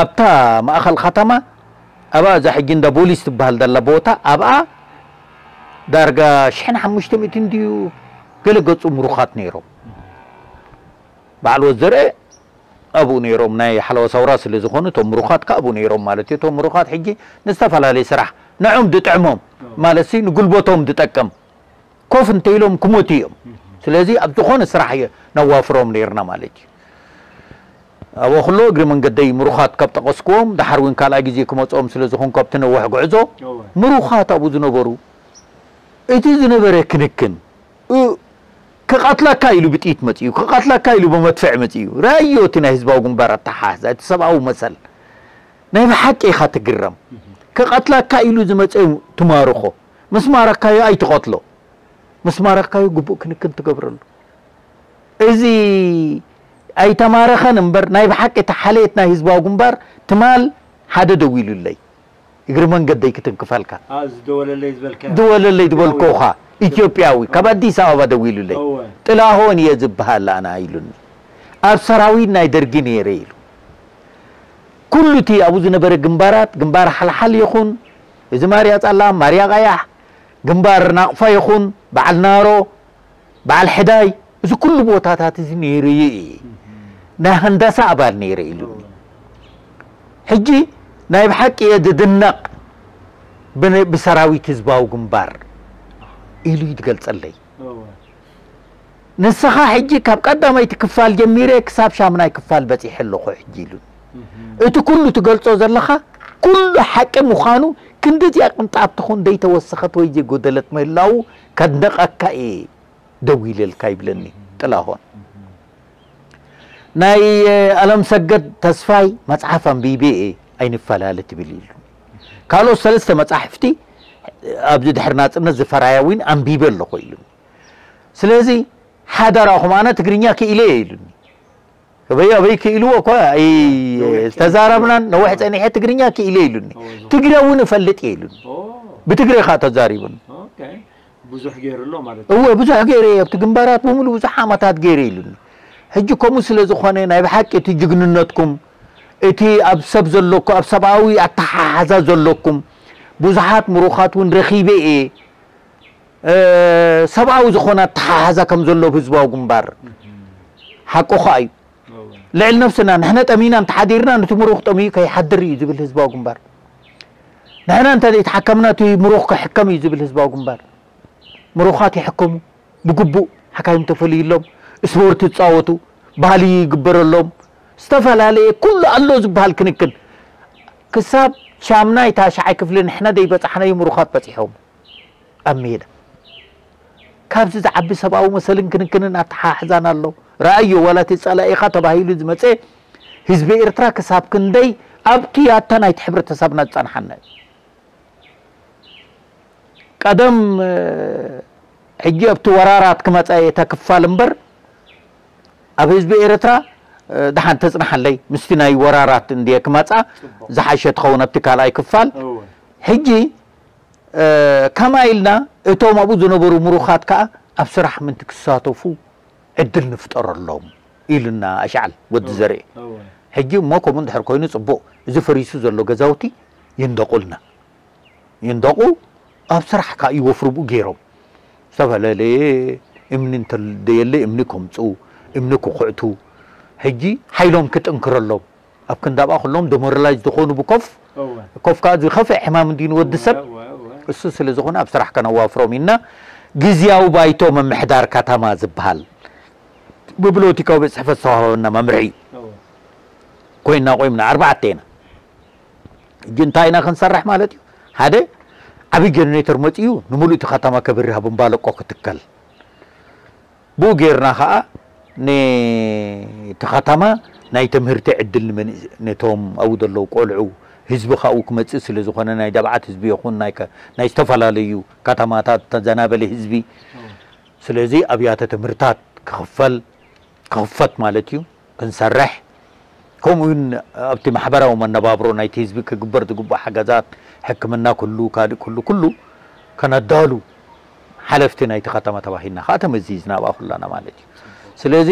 ኣብታ ማእኸል ከተማ ኣብኣ እዛ ሕጂ እንዳ ቦሊስ ትበሃል ዘላ ቦታ ኣብኣ ዳርጋ ሽሕን ሓሙሽተ ሚእትን ድዩ ገለ ገፁ ምሩኻት ነይሮም በዓል ወዘርኤ ኣብኡ ነይሮም ናይ ሓለዋ ሰውራ ስለ ዝኾኑ እቶም ምሩኻት ከኣ ኣብኡ ነይሮም ማለት እዩ እቶም ምሩኻት ሕጂ ንዝተፈላለየ ስራሕ ንዖም ድጥዕሞም ማለት ሲ ንጉልበቶም ድጠቅም ኮፍ እንተኢሎም ክሞቱ እዮም ስለዚ ኣብ ዝኾነ ስራሕ ነዋፍሮም ነይርና ማለት እዩ ኣብ ወክሎ እግሪ መንገደይ ምሩኻት ካብ ጠቐስክዎም ደሓር እውን ካልኣይ ግዜ ክመፅኦም ስለ ዝኾንኩ ኣብቲ ነዋሕ ጉዕዞ ምሩኻት ኣብኡ ዝነበሩ እቲ ዝነበረ ክንክን ክቐትለካ ኢሉ ብጥይት መፅኡ ክቐትለካ ኢሉ ብመድፍዕ መፅኡ ራዮ እቲ ናይ ህዝባዊ ግንባር ኣተሓሕዛ እቲ ሰብኣዊ መሰል ናይ ብሓቂ ኢኻ ትግረም ክቐትለካ ኢሉ ዝመፀ ትማርኾ ምስ ማረካዮ ኣይትቐትሎ ምስ ማረካዮ ግቡእ ክንክን ትገብረሉ እዚ ኣይተማረኸን እምበር ናይ ብሓቂ እቲ ሓልየት ናይ ህዝባዊ ግንባር ትማል ሓደ ደው ኢሉለይ እግሪ መንገደይ ክትንክፈልካ። አ፣ ዝደወለለይ ዝበልካ። ዝደወለለይ ዝበልኩኻ ኢትዮጵያዊ ካብ ኣዲስ ኣበባ ደዊሉለይ። እወ። ጥላሁን እየ ዝበሃል ኣና ኢሉኒ። ኣብ ሰራዊት ናይ ደርጊ ነይረ ኢሉ። ኩሉ እቲ ኣብኡ ዝነበረ ግንባራት፣ ግንባር ሓልሓል ይኹን፣ እዚ ማርያ ጸላም፣ ማርያ ቀያሕ፣ ግንባር ናቕፋ ይኹን፣ በዓል ናሮ፣ በዓል ሕዳይ፣ እዚ ኩሉ ቦታታት እዚ ነይሩ እዩ። ናይ ሃንዳሳ ኣባል ነይረ ኢሉኒ። ሕጂ ናይ ብሓቂ እየ ዝድነቕ ብን-፣ ብሰራዊት ህዝባዊ ግንባር ኢሉ እዩ ዝገልጸለይ። እወ። ንስኻ ሕጂ ካብ ቀዳመይቲ ክፋል ጀሚረ ክሳብ ሻምናይ ክፋል በጺሐ ኣለኹ ሕጂ ኢሉኒ። እህ። እቲ ኩሉ ትገልጾ ዘለኻ ኩሉ ሓቂ ምዃኑ ክንድዚኣ ቅንጣብ ትኹን ዘይተወሰኸት ወይ ዘይጎደለት ምህላዉ ከድንቐካ እየ። ደው ኢለልካ ይብለኒ ጥላሁን። ናይ ኣለም ሰገድ ተስፋይ መጽሓፍ ኣንቢበ እየ ኣይንፈላለ ትብል ኢሉ። ካልኦት ሰለስተ መጻሕፍቲ ኣብዚ ድሕሪ ናጽነት ዝፈራያ እውን ኣንቢበ ኣለኹ ኢሉኒ። ስለዚ ሓደራኹም ኣነ ትግርኛ ክኢለ እየ ኢሉኒ። ኣበይ ኣበይ ክኢልዎ እኳ ኣይ-፣ ነዊሕ ጸኒሐ። ዝተዛረብናን ነዊሕ ጸኒሐ ትግርኛ ክኢለ ኢሉኒ። ኦ፣ ትግረ እውን እፈልጥ እየ ኢሉኒ። ኦ። ብትግረ ከዓ ተዛሪቡኒ። ኦኬ። ብዙሕ ገይሩ ኣሎ ማለት እዩ። እወ፣ ብዙሕ ገይረ እየ። ኣብቲ ግንባራት ብምሉእ ብዙሕ ዓመታት ገይረ ኢሉኒ። ሕጂ ከምኡ ስለ ዝኾነ ናይ ብሓቂ እቲ ጅግንነትኩም፣ እቲ ኣብ ሰብ ዘለኩ-፣ ኣብ ሰብኣዊ ኣተሓሓዛ ዘለኩም ብዙሓት ምሩኻት እውን ረኺበ እየ። እ፣ ሰብኣዊ ዝኾነ ኣተሓሓዛ ከም ዘሎ ኣብ ህዝባዊ ግንባር ሓቁ ኸኣ እዩ። እወ። ልዕሊ ነብስና ንሕና ጠሚና እንተሓዲርና ነቲ ምሩኽ ጠሚዩ ከይሓድር እዩ ዝብል ህዝባዊ ግንባር። ንሕና እንተ ዘይተሓከምና እቲ ምሩኽ ክሕከም እዩ ዝብል ህዝባዊ ግንባር። ምሩኻት ይሕከሙ፣ ብግቡእ ሓካይም ተፈልዩሎም፣ ስፖርት ይጻወቱ፣ ባህሊ ይግበረሎም፣ ዝተፈላለየ ኩሉ ኣሎ ዝበሃል ክንክን። ክሳብ ሻምናይ ታሽዓይ ክፍሊ ንሕና ዘይበጻሕናዮ ምሩኻት በጺሖም። ኣብ ሜዳ። ካብዚ ዝዓቢ ሰብኣዊ መሰልን ክንክንን ኣተሓሕዛን ኣሎ። ረኣዮ፣ ዋላ እቲ ጸላኢኻ ተባሂሉ ዝመጸ ህዝቢ ኤርትራ ክሳብ ክንደይ ኣብቲ ያታ ናይቲ ሕብረተሰብና ዝጸንሓና እዩ። ቀደም፣ እ፣ ሕጂ ኣብቲ ወራራት ክመጻ እየ እታ ክፋል እምበር ኣብ ህዝቢ ኤርትራ ደሓን ተጽናሓለይ ምስቲ ናይ ወራራት እንድየ ክመጻ ዝሓሸ ትኸውን ኣብቲ ካልኣይ ክፋል። ሕጂ ከማ ኢልና እቶም ኣብኡ ዝነበሩ ምሩኻት ከኣ ኣብ ስራሕ ምንቲ ክሳተፉ ዕድል ንፍጠረሎም ኢሉና ኣሽዓል ወዲ ዘርኤ። ሕጂ እሞ ከምኡ እንድሕር ኮይኑ ጽቡቕ፣ እዚ ፈሪሱ ዘሎ ገዛውቲ ይንደቑልና። ይንደቑ ኣብ ስራሕ ከኣ ይወፍሩ ብኡ ገይሮም። ዝተፈላለየ እምኒ እንተደየለ እምኒ ከምፁ፣ እምኒ ክኹዕቱ። ሕጂ ሓይሎም ክጥንክረሎም። ኣብ ክንዳብኣ ኩሎም ደሞራላይዝ ዝኾኑ ብኮፍ፣ ኮፍ ከኣ ዝኸፍእ ሕማም እንድዩ ንወዲ ሰብ። እሱ ስለ ዝኾነ ኣብ ስራሕ ከነዋፍሮም ኢና። ግዝያዊ ባይቶ ምምሕዳር ከተማ ዝበሃል ብብሎቲካዊ ቤት ጽሕፈት ዝተዋሃበና መምርሒ እዩ። ኮይና ቆይምና ኣርባዕተ ኢና። ሕጂ እንታይ ኢና ክንሰርሕ ማለት እዩ? ሓደ ዓብዪ ጀነሬተር መፂኡ ንምሉእ እቲ ከተማ ከብርህ ኣብ እምባለቆ ክትከል። ብኡ ጌርና ከዓ ነቲ ከተማ ናይ ትምህርቲ ዕድል ንመንእ-፣ ነቶም ኣብኡ ዘለዉ ቆልዑ ህዝቢ ካብኡ ክመፅእ ስለ ዝኾነ ናይ ደብዓት ህዝቢ ይኹን ናይ ከ-፣ ናይ ዝተፈላለዩ ከተማታት ተዘናበለ ህዝቢ ስለዚ ኣብያተ ትምህርታት ክኽፈል ክኽፈት ማለት እዩ ክንሰርሕ ከምኡ እውን ኣብቲ ማሕበራዊ መነባብሮ ናይቲ ህዝቢ ክግበር ዝግባእ ሓገዛት ሕክምና ኩሉ ካልእ ኩሉ ኩሉ ከነዳሉ ሓለፍቲ ናይቲ ከተማ ተባሂልና ከዓ ተመዚዝና ኣብኣ ኩላና ማለት እዩ። ስለዚ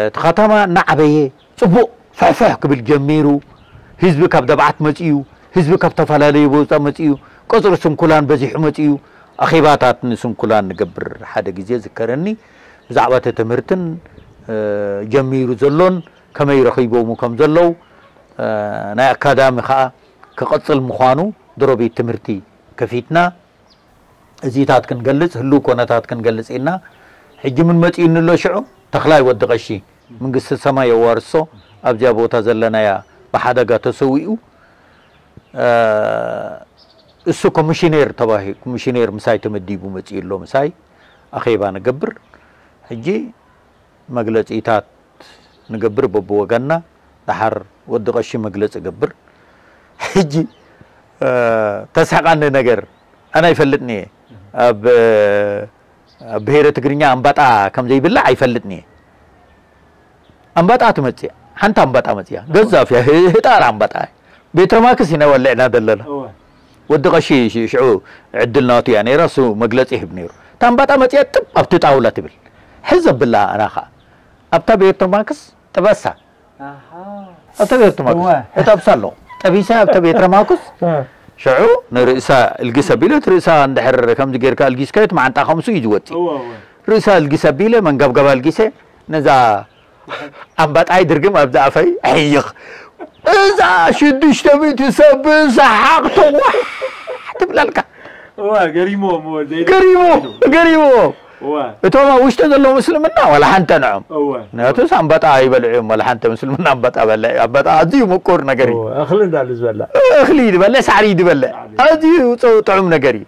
እቲ ከተማ እናዓበየ ፅቡቕ ፍሕፍሕ ክብል ጀሚሩ ህዝቢ ካብ ደብዓት መፅኡ ህዝቢ ካብ ተፈላለዩ ቦታ መፅኡ ቀፅሪ ስንኩላን በዚሑ መፅኡ ኣኼባታት ንስንኩላን ንገብር ሓደ ግዜ ዝከረኒ ብዛዕባ እቲ ትምህርትን ጀሚሩ ዘሎን ከመይ ረኺቦሙ ከም ዘለዉ ናይ ኣካዳሚ ከዓ ክቐፅል ምዃኑ ድሮ ቤት ትምህርቲ ከፊትና እዚታት ክንገልፅ ህልው ኮነታት ክንገልፅ ኢልና ሕጂ ምን መፂኡኒ ኣሎ ሽዑ ተኽላይ ወዲ ቀሺ መንግስቲ ሰማይ የዋርሶ ኣብዚኣ ቦታ ዘለናያ ብሓደጋ ተሰዊኡ እሱ ኮሚሽነር ተባሂ ኮሚሽነር ምሳይ ተመዲቡ መፂኡ ኣሎ ምሳይ ኣኼባ ንገብር ሕጂ መግለፂታት ንገብር በብወገንና ደሓር ወዲ ቀሺ መግለፂ ገብር ሕጂ ተስሕቃኒ ነገር ኣነ ኣይፈልጥን እየ ኣብ ብሄረ ትግርኛ ኣምባጣ ከም ዘይብላዕ ኣይፈልጥን እየ ኣምባጣ ትመፅእ ሓንቲ ኣምባጣ መፅያ ገዛፍ እያ ህጣር ኣምባጣ ቤትረማክስ ኢና ወሊዕና ዘለና ወዲ ቀሺ ሽዑ ዕድል ናቱ እያ ነይራ እሱ መግለፂ ይህብ ነይሩ እታ ኣምባጣ መፅያ ጥብ ኣብቲ ጣውላ ትብል ሕዘ ብላ ኣና ከዓ ኣብታ ቤትረማክስ ጥበሳ ኣብታ ቤትረማክስ እጣብሳ ኣሎ ጠቢሳ ኣብታ ቤትረማክስ ሽዑ ንርእሳ እልግስ ኣቢለት ርእሳ እንድሕር ከምዚ ጌርካ እልጊስካዮ እቲ መዓንጣ ከምሱ እዩ ዝወፅእ ርእሳ እልጊስ ኣቢለ መንገብገባ እልጊሰ ነዛ ኣምባጣይ ድርግም ኣብዚ ኣፈይ ሕይኽ እዛ ሽዱሽተ ሚእቲ ሰብ ብሰሓቕ ተዋሕ ትብለልካ ገሪሞ ገሪሞ እቶም ኣብ ውሽጢ ዘለዉ ምስልምና ዋላ ሓንተ ንዖም ምክንያቱስ ኣምባጣ ይበልዑ እዮም ዋላ ሓንተ ምስልምና ኣምባጣ በልዕ ኣምባጣ ኣዝዩ ምቁር ነገር እዩ እኽሊ እንዳሉ ዝበላ እኽሊ ዝበልዕ ሳዕሪ ዝበልዕ ኣዝዩ ጥዑም ነገር እዩ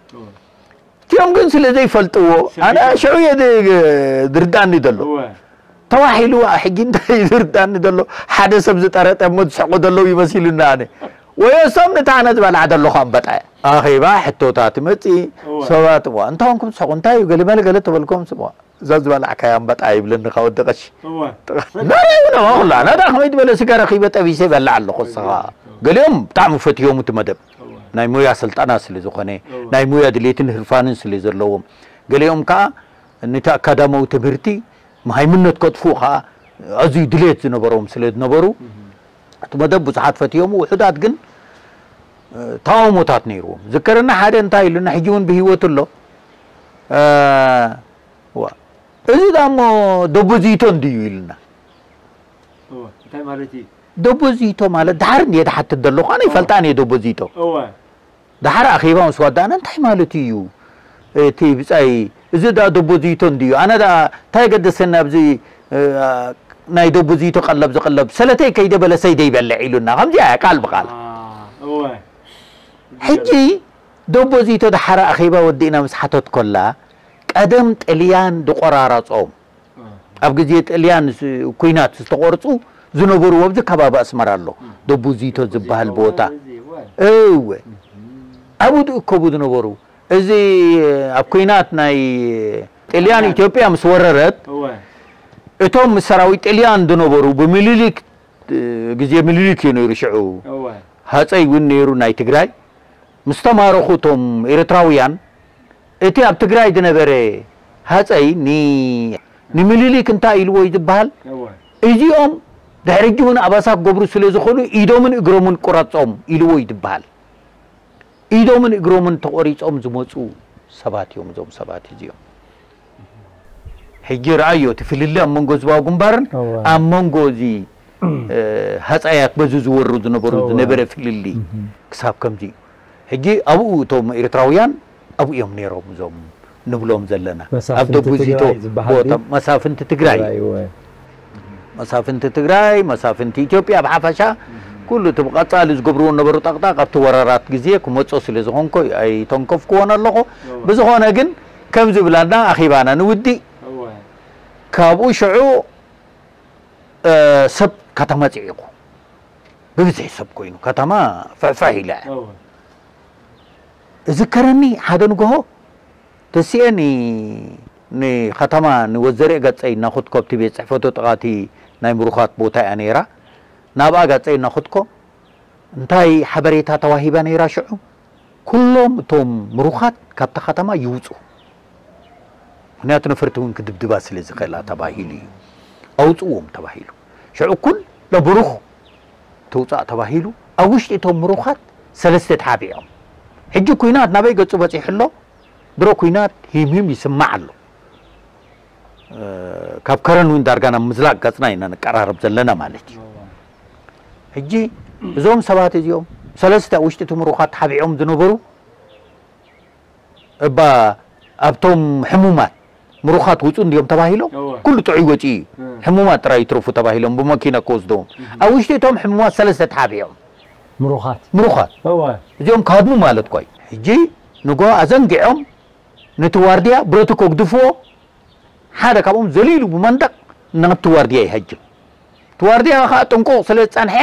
እቲኦም ግን ስለ ዘይፈልጥዎ ኣነ ሽዑ እየ ዝርዳእኒ ዘሎ ተዋሒሉ ሕጂ እንታይ ዝርዳእኒ ዘሎ ሓደ ሰብ ዝጠረጠ እሞ ዝስሕቁ ዘለዉ ይመሲሉኒ ኣነ ወይ እሶም ነታ ኣነ ዝበልዓ ዘለኹ ኣንበጣ እያ ኣኼባ ሕቶታት ይመፅእ ሰባት እዋ እንታይ ኾንኩም ትስሕቁ እንታይ እዩ ገለመለ ገለ ተበልኩም ስምዋ እዛ ዝበላዕካያ ኣንበጣ ይብለኒ ካብ ወዲ ቀሺ ናዳ ይብለ ኩላ ናዳ ከመይ ዝበለ ስጋ ረኺበ ጠቢሰ ይበልዕ ኣለኹ እስኻ ገሊኦም ብጣዕሚ ፈትዮም እቲ መደብ ናይ ሙያ ስልጠና ስለ ዝኾነ ናይ ሙያ ድሌትን ህርፋንን ስለ ዘለዎም ገሊኦም ከዓ ነቲ ኣካዳማዊ ትምህርቲ መሃይምነት ከጥፍኡ ከዓ ኣዝዩ ድሌት ዝነበሮም ስለ ዝነበሩ እቲ መደብ ብዙሓት ፈትዮም ውሑዳት ግን ተቃውሞታት ነይርዎም ዝከረና ሓደ እንታይ ኢሉና ሕጂ እውን ብህይወት ኣሎ እዚ ዳሞ ደቦዚቶ እንድዩ ኢልና ደቦዚቶ ማለት ድሓር እንድየ ድሓትት ዘለኹ ኣነ ይፈልጣን እየ ደቦዚቶ ድሓር ኣኼባ ምስ ዋዳእና እንታይ ማለት እዩ እቲ ብፃይ እዚ ዳ ደቦዚቶ እንድዩ ኣነ ዳ እንታይ ገደሰኒ ኣብዚ ናይ ደቦዚቶ ቀለብ ዝቀለብ ሰለተይ ከይደ በለሰይ ደይበልዕ ኢሉና ከምዚኣ ቃል ብቃል ሕጂ ደቦዚቶ ድሓር ኣኼባ ወዲእና ምስ ሓተት ኮላ ቀደም ጥልያን ድቆራረፆም ኣብ ግዜ ጥልያን ኩናት ዝተቆርፁ ዝነበሩ ኣብዚ ከባቢ ኣስመራ ኣሎ ደቡዚቶ ዝበሃል ቦታ እወ ኣብኡ ዝእከቡ ዝነበሩ እዚ ኣብ ኲናት ናይ ጥልያን ኢትዮጵያ ምስ ወረረት፣ እቶም ምስ ሰራዊት ጥልያን ዝነበሩ ብምኒልክ፣ ግዜ ምኒልክ እዩ ነይሩ ሽዑ፣ ሃፀይ እውን ነይሩ ናይ ትግራይ። ምስ ተማረኹ እቶም ኤርትራውያን፣ እቲ ኣብ ትግራይ ዝነበረ ሃፀይ ኒ-፣ ንምኒልክ እንታይ ኢልዎ እዩ ዝበሃል? እዚኦም ድሕሪ ሕጂ እውን ኣባሳ ክገብሩ ስለ ዝኽእሉ ኢዶምን እግሮምን ቁረጾም ኢልዎ እዩ ዝበሃል። ኢዶምን እግሮምን ተቖሪጾም ዝመጹ ሰባት እዮም እዞም ሰባት እዚኦም። ሕጂ ረኣዮ እቲ ፍልልይ ኣብ መንጎ ህዝባዊ ግንባርን ኣብ መንጎ እዚ ሃፀያት በዚ ዝወሩ ዝነበሩ ዝነበረ ፍልልይ ክሳብ ከምዚ እዩ። ሕጂ ኣብኡ እቶም ኤርትራውያን ኣብኡ እዮም ነይሮም እዞም ንብሎም ዘለና ኣብ ደቡዚቶ ቦታ መሳፍንቲ ትግራይ፣ መሳፍንቲ ትግራይ፣ መሳፍንቲ ኢትዮጵያ ብሓፈሻ ኩሉ እቲ ብቐጻሊ ዝገብርዎ ነበሩ ጠቕጣቕ ኣብቲ ወረራት ግዜ ክመጾ ስለ ዝኾንኮ ኣይተንከፍክዎን ኣለኹ። ብዝኾነ ግን ከም ዝብላና ኣኺባና ንውዲእ። ካብኡ ሽዑ ሰብ ከተማ ጽዒቑ ብብዝሒ ሰብ ኮይኑ ከተማ ፍሕፍሕ ኢላ እያ። እዝከረኒ ሓደ ንግሆ ተሲኤ ን-፣ ንኸተማ ንወዘርኤ ገጸይ እናኹትኮ ኣብቲ ቤት ጽሕፈቱ ጥቓቲ ናይ ምሩኻት ቦታ እያ ነይራ። ናብኣ ገጸይ እናኹትኮ እንታይ ሓበሬታ ተዋሂባ ነይራ ሽዑ? ኩሎም እቶም ምሩኻት ካብታ ከተማ ይውፁ። ምኽንያቱ ነፈርቲ እውን ክድብድባ ስለ ዝኽእላ ተባሂሉ እዩ። ኣውፅዎም ተባሂሉ። ሽዑ ኩሎ ብሩኽ ተውፃእ ተባሂሉ። ኣብ ውሽጢ እቶም ምሩኻት ሰለስተ ተሓቢኦም። ሕጂ ኩናት ናበይ ገፁ በፂሑ ኣሎ? ድሮ ኩናት ሂምሂም ይስማዕ ኣሎ። ካብ ከረን እውን ዳርጋ ናብ ምዝላቕ ገፅና ኢና ንቀራረብ ዘለና ማለት እዩ። ሕጂ እዞም ሰባት እዚኦም ሰለስተ ኣብ ውሽጢ እቲ ምሩኻት ተሓቢኦም ዝነበሩ እባ ኣብቶም ሕሙማት ምሩኻት ውፁ እንዲዮም ተባሂሎም ኩሉ ጥዑይ ወፂኡ እዩ። ሕሙማት ጥራይ ይትረፉ ተባሂሎም ብመኪና ክወስድዎም ኣብ ውሽጢ እቶም ሕሙማት ሰለስተ ተሓቢኦም ምሩኻት ምሩኻት እዚኦም ካድሙ ማለት እኳ እዩ። ሕጂ ንጎ ኣዘንጊዖም ነቲ ዋርድያ ብረቱ ከግድፍዎ ሓደ ካብኦም ዘሊሉ ብመንደቕ ናብቲ ዋርድያ ይሃጅም። እቲ ዋርድያ ከዓ ጥንቁቕ ስለ ዝጸንሐ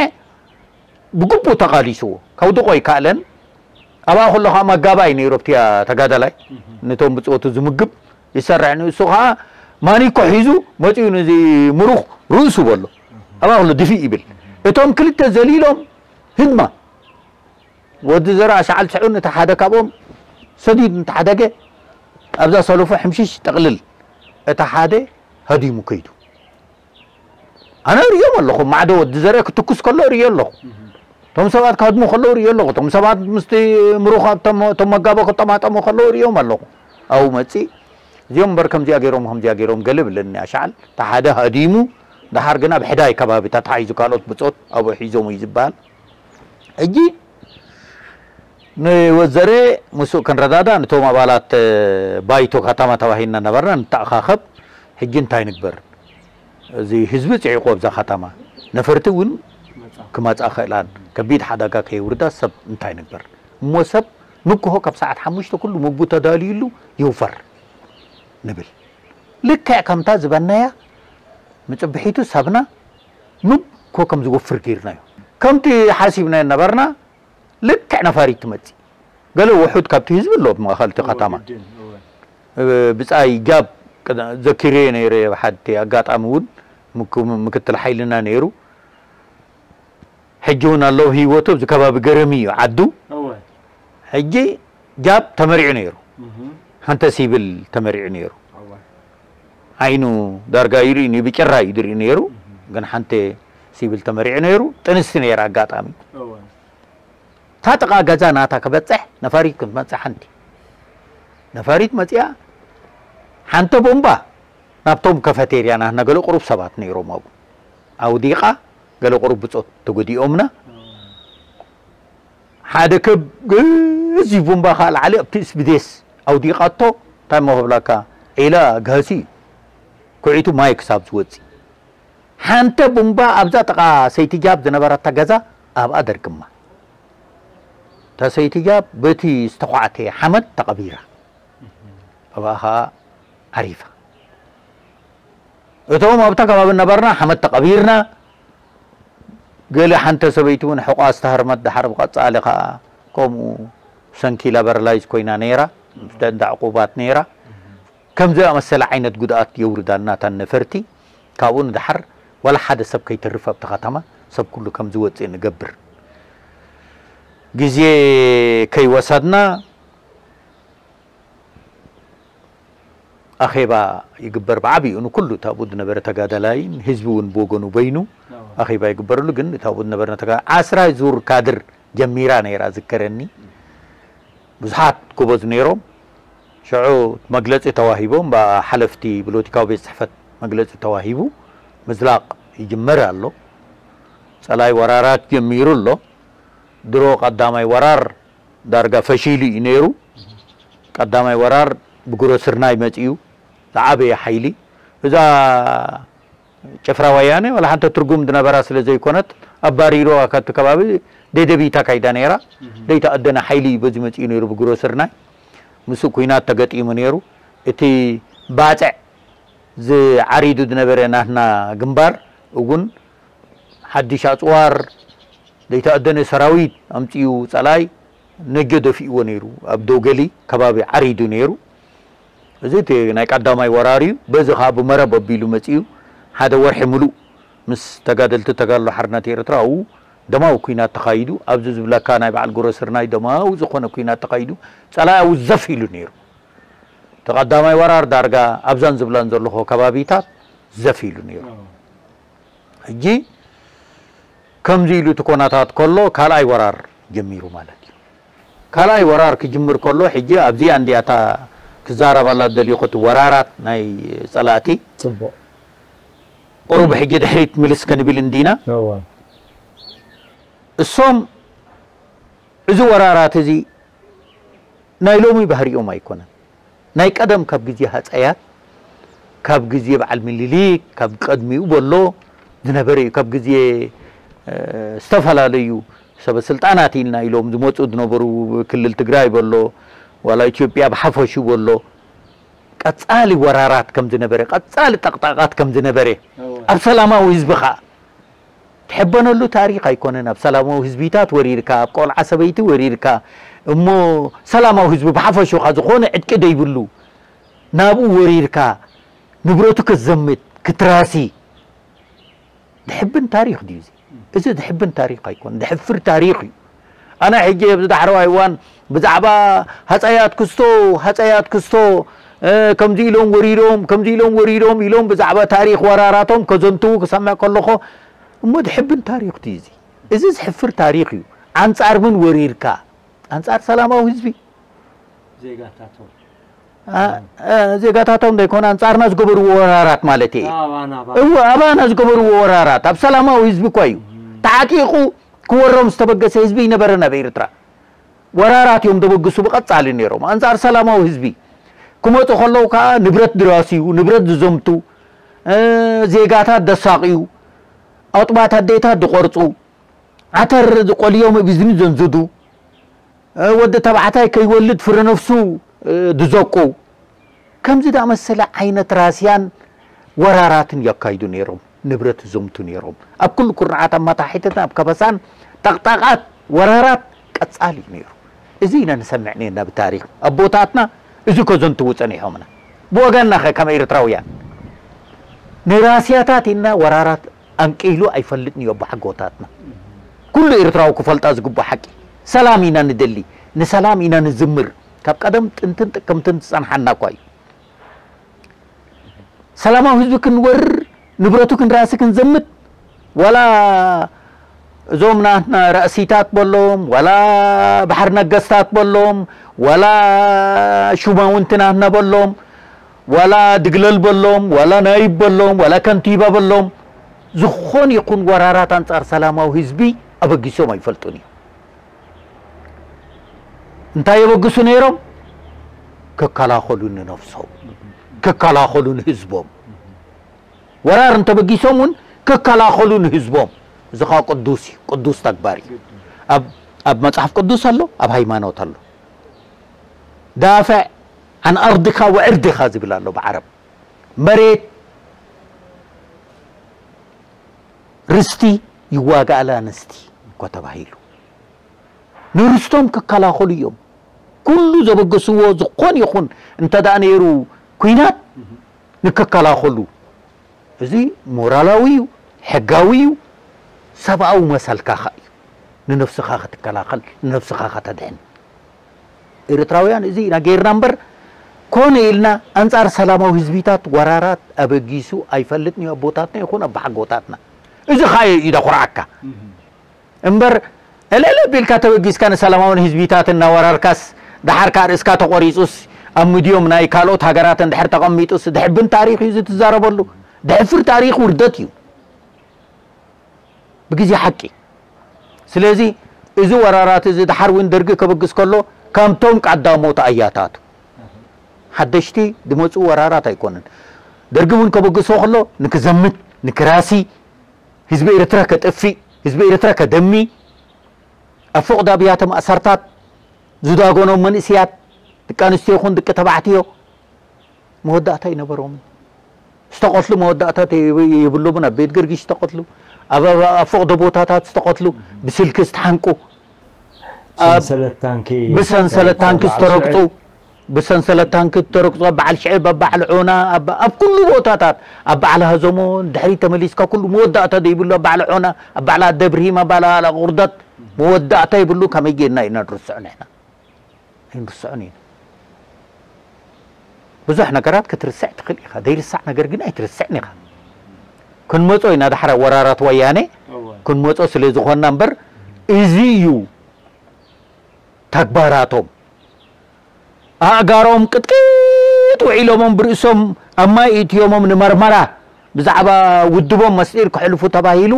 ብግቡእ ተቓሊስዎ። ከውድቖ ኣይከኣለን። ኣብኣ ከሎ ከዓ መጋባይ ነይሩ ኣብቲ ተጋዳላይ ነቶም ብጾቱ ዝምግብ ይሰርሕ። ንሱ ከዓ ማኒኮ ሒዙ መጺኡ ነዚ ምሩኽ ርእሱ በሎ። ኣብኣ ከሎ ድፊእ ይብል። እቶም ክልተ ዘሊሎም ህድማ ወዲ ዘርኣ ሻዕል ስዑን እቲ ሓደ ካብኦም ሰዲድ እንተሓደገ ኣብዛ ሰለፎ ሕምሽሽ ጠቕልል እቲ ሓደ ሃዲሙ ከይዱ። ኣነ እርእዮም ኣለኹ፣ ማዕዶ ወዲ ዘርአ ክትኩስ ከሎ እርእዮ ኣለኹ። እቶም ሰባት ክሃድሙ ከለዉ እርእዮ ኣለኹ። እቶም ሰባት ምስቲ ምሩኽ ኣብቶም፣ እቶም መጋቦ ክጠማጠሙ ከለዉ እርእዮም ኣለኹ። ኣብኡ መጺእ እዚኦም እምበር ከምዚኣ ገይሮም፣ ከምዚኣ ገይሮም ገለ ብለኒ ኣሻዕል። እቲ ሓደ ሃዲሙ፣ ደሓር ግና ብሕዳይ ከባቢ ተታሒዙ ካልኦት ብጾት ኣብኡ ሒዞም እዩ ዝበሃል። ሕጂ ንወዘሬ ምስኡ ክንረዳዳእ፣ ነቶም ኣባላት ባይቶ ከተማ ተባሂልና ነበርና፣ ንተኣኻኸብ። ሕጂ እንታይ ንግበር? እዚ ህዝቢ ጽዒቑ ኣብዛ ከተማ፣ ነፈርቲ እውን ክመጻ ክእላን፣ ከቢድ ሓደጋ ከየውርዳ ሰብ እንታይ ንግበር? እሞ ሰብ ንግሆ ካብ ሰዓት ሓሙሽተ ኩሉ ምግቡ ተዳልዩሉ ይውፈር ንብል። ልክዕ ከምታ ዝበናያ ምጽብሒቱ ሰብና ንግሆ ከም ዝወፍር ገይርናዮ። ከምቲ ሓሲብናዮ ነበርና፣ ልክዕ ነፋሪት ትመጽእ። ገለ ውሑድ ካብቲ ህዝቢ ኣሎ ኣብ ማእኸል እቲ ከተማ። ብጻይ ጃብ ዘኪረዮ ነይረ፣ ኣብ ሓንቲ ኣጋጣሚ እውን ምክ-፣ ምክትል ሓይልና ነይሩ። ሕጂ እውን ኣሎ ህይወቱ፣ ኣብዚ ከባቢ ገረሚ እዩ ዓዱ። ሕጂ ጃብ ተመሪዑ ነይሩ። ሓንቲ ሲቪል ተመሪዑ ነይሩ። ዓይኑ ዳርጋ ይርኢ፣ ብጭራ እዩ ዝርኢ ነይሩ። ግን ሓንቲ ሲቪል ተመሪዑ ነይሩ። ጥንስቲ ነይራ ኣጋጣሚ። እታ ጥቓ ገዛ ናታ ክበጽሕ ነፋሪት ክትመጽእ ሓንቲ ነፋሪት መጺኣ፣ ሓንቲ ቦምባ ናብቶም ከፈቴርያ ናትና ገለ ቁሩብ ሰባት ነይሮም ኣብኡ ኣውዲቓ፣ ገለ ቁሩብ ብጾት ተጎዲኦምና። ሓደ ከብ ገዚፍ ቦምባ ከኣ ላዕሊ ኣብቲ ስብዴስ ኣውዲቓቶ። እንታይ እሞ ክብለካ፣ ዒላ ጋህሲ ኩዒቱ ማይ ክሳብ ዝወጽእ። ሓንቲ ቡምባ ኣብዛ ጥቓ ሰይቲ ጃብ ዝነበረታ ገዛ ኣብኣ ደርግማ። እታ ሰይቲ ጃብ በቲ ዝተዃዕተ ሓመድ ተቐቢራ። ኣብኣ ኸኣ ዓሪፋ። እቶም ኣብታ ከባቢ ነበርና ሓመድ ተቐቢርና። ገለ ሓንቲ ሰበይቲ እውን ሕቋ ዝተሃርመት፣ ደሓር ብቐጻሊ ኸኣ ከምኡ ሰንኪላ በረላይዝ ኮይና ነይራ። እንዳ ዕቁባት ነይራ። ከምዚ ዝኣመሰለ ዓይነት ጉድኣት የውርዳልና እተን ነፈርቲ። ካብኡ ንደሓር ዋላ ሓደ ሰብ ከይተርፍ ኣብቲ ከተማ ሰብ ኩሉ ከም ዝወፅእ ንገብር። ግዜ ከይወሰድና ኣኼባ ይግበር ብዓብይኡ ንኩሉ ታብኡ ዝነበረ ተጋዳላይን ህዝቢ እውን ብወገኑ በይኑ ኣኼባ ይግበረሉ። ግን ታብኡ ዝነበረ ተጋ ዓስራ ዙር ካድር ጀሚራ ነይራ ዝከረኒ። ብዙሓት ጎበዝ ነይሮም። ሽዑ መግለፂ ተዋሂቦም ብሓለፍቲ ብሎቲካዊ ቤት ፅሕፈት መግለፂ ተዋሂቡ ምዝላቕ ይጅመር ኣሎ። ፀላይ ወራራት ጀሚሩ ኣሎ። ድሮ ቀዳማይ ወራር ዳርጋ ፈሺሉ እዩ ነይሩ። ቀዳማይ ወራር ብጉረስርናይ መፂኡ ዝዓበየ ሓይሊ እዛ ጭፍራ ወያነ ዋላ ሓንቲ ትርጉም ዝነበራ ስለ ዘይኮነት ኣባሪርዋ ካብቲ ከባቢ ደደቢት ኣካይዳ ነይራ። ዘይተኣደነ ሓይሊ እዩ በዚ መፂኡ ነይሩ ብጉረስርናይ። ምስኡ ኩናት ተገጢሙ ነይሩ። እቲ ባፅዕ ዝዓሪዱ ዝነበረ ናትና ግንባር እውን ሓድሽ ኣፅዋር ዘይተኣደነ ሰራዊት ኣምፂኡ ፀላኢ ነጆ ደፊእዎ ነይሩ። ኣብ ዶገሊ ከባቢ ዓሪዱ ነይሩ። እዚ እቲ ናይ ቀዳማይ ወራር እዩ። በዚ ከዓ ብመረብ ኣቢሉ መፂኡ ሓደ ወርሒ ሙሉእ ምስ ተጋደልቲ ተጋድሎ ሓርነት ኤርትራ ኣብኡ ደማዊ ኩናት ተኻይዱ። ኣብዚ ዝብለካ ናይ በዓል ጉረስርናይ ደማዊ ዝኾነ ኩናት ተኻይዱ። ፀላኢ ኣብኡ ዘፍ ኢሉ ነይሩ። እቲ ቀዳማይ ወራር ዳርጋ ኣብዛን ዝብላን ዘለኹ ከባቢታት ዘፍ ኢሉ ነይሩ። ሕጂ ከምዚ ኢሉ እቲ ኮናታት ከሎ ካልኣይ ወራር ጀሚሩ ማለት እዩ። ካልኣይ ወራር ክጅምር ከሎ ሕጂ ኣብዚኣ እንዲያ እታ ክዛረባላ ዝደልኹ እቲ ወራራት ናይ ፀላእቲ ፅቡቕ ቁሩብ ሕጂ ድሕሪት ምልስ ክንብል እንዲና። እወ እሶም እዚ ወራራት እዚ ናይ ሎሚ ባህሪኦም ኣይኮነን። ናይ ቀደም ካብ ግዜ ሃፀያት፣ ካብ ግዜ በዓል ምኒልክ፣ ካብ ቀድሚኡ በሎ ዝነበረ እዩ። ካብ ግዜ እ፣ ዝተፈላለዩ ሰበ ስልጣናት ኢልና ኢሎም ዝመፁ ዝነበሩ ክልል ትግራይ በሎ ዋላ ኢትዮጵያ ብሓፈሹ በሎ ቀፃሊ ወራራት ከም ዝነበረ፣ ቀፃሊ ጠቕጣቓት ከም ዝነበረ ኣብ ሰላማዊ ህዝቢ ከዓ ትሕበነሉ ታሪኽ ኣይኮነን። ኣብ ሰላማዊ ህዝቢታት ወሪርካ፣ ኣብ ቆልዓ ሰበይቲ ወሪርካ፣ እሞ ሰላማዊ ህዝቢ ብሓፈሹ ከዓ ዝኾነ ዕጥቂ ደይብሉ ናብኡ ወሪርካ ንብረቱ ከዘምት ክትራሲ ድሕብን ታሪኽ ድዩ እዚ? እዚ ድሕብን ታሪኽ ኣይኮን፣ ድሕፍር ታሪኽ እዩ። ኣነ ሕጂ ኣብዚ ዳሕረዋይ እዋን ብዛዕባ ሃፀያት ክስቶ፣ ሃፀያት ክስቶ እ፣ ከምዚ ኢሎም ወሪዶም፣ ከምዚ ኢሎም ወሪዶም ኢሎም ብዛዕባ ታሪኽ ወራራቶም ከዘንትዉ ክሰምዕ ከለኹ እሞ ድሕብን ታሪኽ ድዩ እዚ? እዚ ዝሕፍር ታሪኽ እዩ። ኣንፃር ምን ወሪርካ? ኣንፃር ሰላማዊ ህዝቢ ዜጋታቶም አ- አ- ዜጋታቶም ዘይኮነ ኣንፃርና ዝገበርዎ ወራራት ማለት እዩ። ኣባና እወ ኣባና ዝገበርዎ ወራራት ኣብ ሰላማዊ ህዝቢ እኳ እዩ ተዓጢቑ ክወሮም ዝተበገሰ ህዝቢ ይነበረን ኣብ ኤርትራ። ወራራት እዮም ዘበግሱ ብቐፃሊ ነይሮም ኣንፃር ሰላማዊ ህዝቢ። ክመፁ ከለዉ ከዓ ንብረት ዝራስዩ፣ ንብረት ዝዘምቱ፣ እ፣ ዜጋታት ዘሳቕዩ፣ ኣጥባት ኣዴታት ዝቆርፁ፣ ዓተር ዝቆልዮም ብዝኒ ዘንዝዱ፣ እ፣ ወዲ ተባዕታይ ከይወልድ ፍረ ነፍሱ እ፣ ዝዘቁ፣ ከምዚ ዝኣመሰለ ዓይነት ራስያን ወራራትን የካይዱ ነይሮም። ንብረት ይዘምቱ ነይሮም። ኣብ ኩሉ ኩርናዓት ኣማታሒተትን ኣብ ከበሳን ጠቕጣቓት ወራራት ቀጻሊ እዩ ነይሩ። እዚ ኢና ንሰምዕ ነርና ብታሪኽ ኣቦታትና እዚ ከዘንትዉ ጸኒሖምና። ብወገንና ኸ ከም ኤርትራውያን ንራስያታት ኢልና ወራራት ኣንቂሉ ኣይፈልጥን እዩ ኣቦሓጎታትና። ኩሉ ኤርትራዊ ክፈልጣ ዝግባእ ሓቂ። ሰላም ኢና ንደሊ፣ ንሰላም ኢና ንዝምር። ካብ ቀደም ጥንትን ጥቅምትን ዝጸንሓና እኳ እዩ። ሰላማዊ ህዝቢ ክንወርር ንብረቱ ክንራሲ ክንዘምት ዋላ እዞም ናትና ራእሲታት በሎም ዋላ ባሕር ነገስታት በሎም ዋላ ሹማውንቲ ናትና በሎም ዋላ ድግለል በሎም ዋላ ናይብ በሎም ዋላ ከንቲባ በሎም ዝኾን ይኹን ወራራት ኣንጻር ሰላማዊ ህዝቢ ኣበጊሶም ኣይፈልጡን እዩ። እንታይ የበግሱ ነይሮም? ክከላኸሉ ንነፍሶም፣ ክከላኸሉ ንህዝቦም። ወራር እንተበጊሶም እውን ክከላኸሉ ንህዝቦም። እዚ ኸዓ ቅዱስ እዩ፣ ቅዱስ ተግባር እዩ። ኣብ ኣብ መጽሓፍ ቅዱስ ኣሎ፣ ኣብ ሃይማኖት ኣሎ። ዳፍዕ ዓን ኣርድካ ወዕርድካ ዝብል ኣሎ ብዓረብ። መሬት ርስቲ ይዋጋእ ለኣንስቲ እኮ ተባሂሉ። ንርስቶም ክከላኸሉ እዮም። ኩሉ ዘበገስዎ ዝኾን ይኹን እንተ ደኣ ነይሩ ኲናት ንክከላኸሉ፣ እዚ ሞራላዊ እዩ፣ ሕጋዊ እዩ፣ ሰብኣዊ መሰልካ ኸኣ እዩ። ንነፍስኻ ክትከላኸል፣ ንነፍስኻ ከተድሕን። ኤርትራውያን እዚ ኢና ጌርና እምበር፣ ኮነ ኢልና ኣንጻር ሰላማዊ ህዝቢታት ወራራት ኣበጊሱ ኣይፈልጥን እዩ፣ ኣቦታትና ይኹን ኣባሓጎታትና። እዚ ኸኣ እዩ ደኹርዓካ። እምበር፣ ዕልዕል ኣቢልካ ተበጊስካ ንሰላማውን ህዝቢታት እናወራርካስ፣ ደሓር ከኣ ርእስካ ተቖሪጹስ፣ ኣብ ሚድዮም ናይ ካልኦት ሃገራት እንድሕር ተቐሚጡስ፣ ድሕብን ታሪኽ እዩ ዝትዛረበሉ። ድሕፍር ታሪኽ ውርደት እዩ። ብግዜ ሓቂ። ስለዚ፣ እዚ ወራራት እዚ ደሓር እውን ደርጊ ከበግስ ከሎ፣ ከምቶም ቀዳሞት ኣያታቱ። ሓደሽቲ ዝመጹ ወራራት ኣይኮነን። ደርጊ እውን ከበግሶ ከሎ፣ ንክዘምት፣ ንክራሲ፣ ህዝቢ ኤርትራ ከጥፊእ፣ ህዝቢ ኤርትራ ከደሚ፣ ኣብ ፎቕ ኣብያተ ማእሰርታት ዝዳጎኖም መንእስያት፣ ደቂ ኣንስትዮ ይኹን ደቂ ተባዕትዮ፣ መወዳእታ ኣይነበሮምን። ዝተቐትሉ መወዳእታ የብ-፣ የብሎምን። ኣብ ቤት ገርጊሽ ዝተቐትሉ፣ ኣብ፣ ኣብ፣ ኣብ ፎቕ ቦታታት ዝተቐትሉ፣ ብስልኪ ዝተሓንቁ፣ ኣብ ሰንሰለት ታንኪ ብሰንሰለት ታንኪ ዝተረግጹ፣ ዝተረግጹ፣ ብሰንሰለት ታንኪ ዝተረግጹ፣ ኣብ በዓል ሽዕብ፣ ኣብ በዓል ዑና፣ ኣብ፣ ኣብ ኩሉ ቦታታት፣ ኣብ በዓል ሃዘሞ፣ ድሕሪት ተመሊስካ ኩሉ መወዳእታ ዘይብሉ፣ ኣብ በዓል ዑና፣ ኣብ በዓል ኣደ ብርሂም፣ ኣብ በዓል ቁርደት፣ መወዳእታ ይብሉ። ከመይ ጌርና ኢና ንርስዖ ንሕና? ኣይንርስዖን ኢና። ብዙሕ ነገራት ክትርስዕ ትኽእል ኢኻ፣ ዘይርሳዕ ነገር ግን ኣይትርስዕን ኢኻ። ክንመጾ ኢና፣ ዳሕራ ወራራት ወያነ እወ። ክንመጾ ስለ ዝኾንና እምበር፣ እዚ እዩ ተግባራቶም። ኣእጋሮም ቅጥቅጥ ውዒሎሞም፣ ብርእሶም ኣብ ማይ እትዮሞም ንመርመራ፣ ብዛዕባ ውድቦም መስጢር ከሕልፉ ተባሂሉ።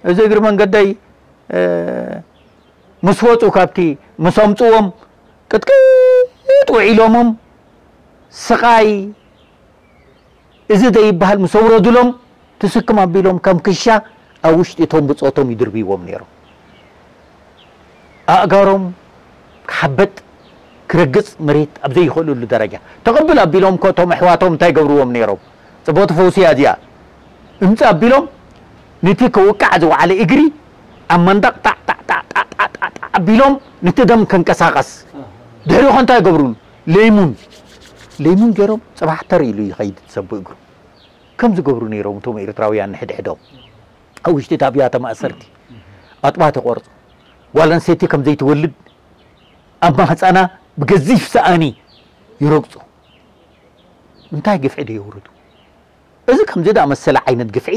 እዚ እግሪ መንገደይ፣ እ፣ ምስ ወጹ፣ ካብቲ ምስ ኣምጽዎም ቅጥቅጥ ውዒሎሞም፣ ስቓይ እዚ ዘይበሃል ምስ ኣውረዱሎም፣ ትስክም ኣቢሎም ከም ክሻ ኣብ ውሽጢ እቶም ብጾቶም ይድርብይዎም ነይሮም። ኣእጋሮም ክሓበጥ፣ ክረግጽ መሬት ኣብ ዘይኽእልሉ ደረጃ። ተቐብል ኣቢሎም እኮ እቶም ኣሕዋቶም እንታይ ገብርዎም ነይሮም? ጽብቕቲ ፈውሲ እያ እዚኣ። እምጽእ ኣቢሎም፣ ነቲ ክውቃዕ ዝወዓለ እግሪ ኣብ መንደቕ ጣዕ፣ ጣዕ፣ ጣዕ፣ ጣዕ፣ ጣዕ፣ ጣዕ፣ ጣዕ ኣቢሎም፣ ነቲ ደም ከንቀሳቐስ። ድሕሪኡ ኸ እንታይ ይገብሩሉ? ለይሙን። ለይሙን ገይሮም፣ ጽባሕ ተር ኢሉ ይኸይድ ዝሰቡ እግሩ። ከም ዝገብሩ ነይሮም እቶም ኤርትራውያን ንሕድሕዶም። ኣብ ውሽጢ እቲ ኣብያተ ማእሰርቲ ኣጥባት ይቖርጹ። ጓል ኣንስተይቲ ከም ዘይትወልድ ኣብ ማህጸና ብገዚፍ ሰኣኒ ይረግጹ። እንታይ ግፍዒ ዶ የውርዱ? እዚ ከምዚ ዝኣመሰለ ዓይነት ግፍዒ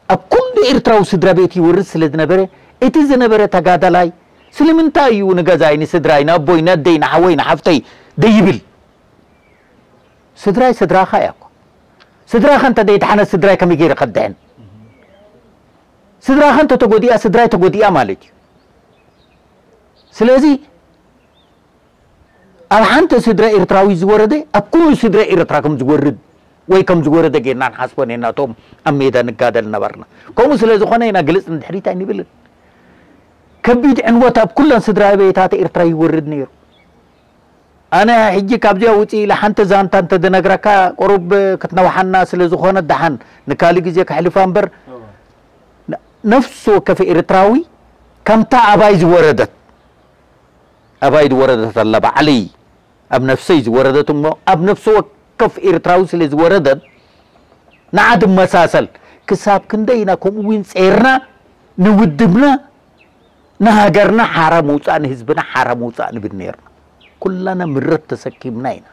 ኣብ ኩሉ ኤርትራዊ ስድራ ቤት ይወርድ ስለ ዝነበረ፣ እቲ ዝነበረ ተጋዳላይ፣ ስለምንታይ እዩ ንገዛይ፣ ንስድራይ፣ ንኣቦይ፣ ንኣደይ፣ ንሓወይ፣ ንሓፍተይ ደይብል? ስድራይ ስድራኻ እያ እኮ። ስድራኻ እንተ ደይደሓነ፣ ስድራይ ከመይ ገይረ ከድሕን? ስድራኻ እንተ ተጎዲኣ፣ ስድራይ ተጎዲኣ ማለት እዩ። ስለዚ፣ ኣብ ሓንቲ ስድራ ኤርትራዊ ዝወረደ፣ ኣብ ኩሉ ስድራ ኤርትራ ከም ዝወርድ ወይ ከም ዝወረደ ጌርና ንሓስቦ ኔርና፣ እቶም ኣብ ሜዳ ንጋደል ነበርና። ከምኡ ስለ ዝኾነ ኢና ግልጽ ንድሕሪት ኣይንብልን። ከቢድ ዕንወት ኣብ ኩለን ስድራ ቤታት ኤርትራ ይወርድ ነይሩ። ኣነ ሕጂ ካብዚኣ ውጽእ ኢለ ሓንቲ ዛንታ እንተ ዝነግረካ፣ ቁሩብ ክትነውሓና ስለ ዝኾነት፣ ደሓን ንካልእ ግዜ ከሕልፋ እምበር፣ ነ-፣ ነፍሲ ወከፍ ኤርትራዊ ከምታ ኣባይ ዝወረደት፣ ኣባይ ዝወረደት ኣላ፣ ባዕለይ ኣብ ነፍሰይ ዝወረደት እሞ፣ ኣብ ነፍሲ ወከፍ ኤርትራዊ ስለ ዝወረደት፣ ንዓ ትመሳሰል። ክሳብ ክንደይ ኢና ከምኡ እውን ጼርና ንውድብና፣ ንሃገርና ሓራ ምውጻእ፣ ንህዝብና ሓራ ምውጻእ ንብል ኔርና። ኩላና ምረት ተሰኪምና ኢና።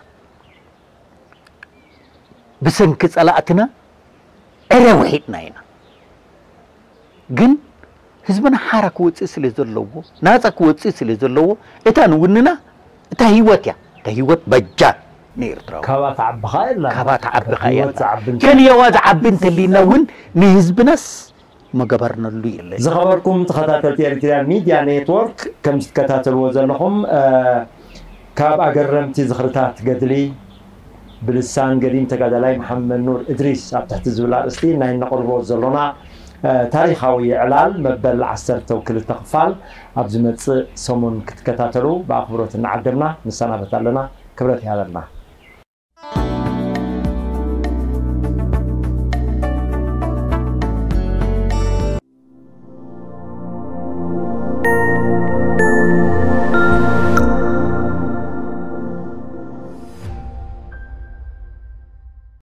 ብሰንኪ ጸላእትና ዕረ ውሒጥና ኢና። ግን ህዝብና ሓራ ክወጽእ ስለ ዘለዎ፣ ናጻ ክወጽእ ስለ ዘለዎ፣ እታ ንውንና፣ እታ ህይወት እያ። እታ ህይወት በጃ ንኤርትራዊ። ካብኣ ትዓቢ ኸኣ የላን። ካብኣ ትዓቢ ኸኣ ህይወት የላን። ዝዓቢ እንተ-፣ ክንየዋ ዝዓቢ እንተሊና እውን ንህዝብናስ መገበርነሉ የለን። ዝኸበርኩም ተኸታተልቲ ኤሪትሪያን ሚድያ ኔትወርክ፣ ከም ዝትከታተልዎ ዘለኹም፣ እ፣ ካብ ኣገረምቲ ዝኽርታት ገድሊ ብልሳን ገዲም ተጋዳላይ መሓመድ ኑር እድሪስ ኣብ ትሕቲ ዝብል ኣርእስቲ ናይ እነቕርቦ ዘሎና፣ እ፣ ታሪኻዊ ዕላል መበል ዓሰርተ ክልተ ክፋል ኣብ ዝመጽእ ሰሙን ክትከታተሉ ብኣኽብሮት እናዓደምና ንሰናበት ኣለና። ክብረት ይሃበልና።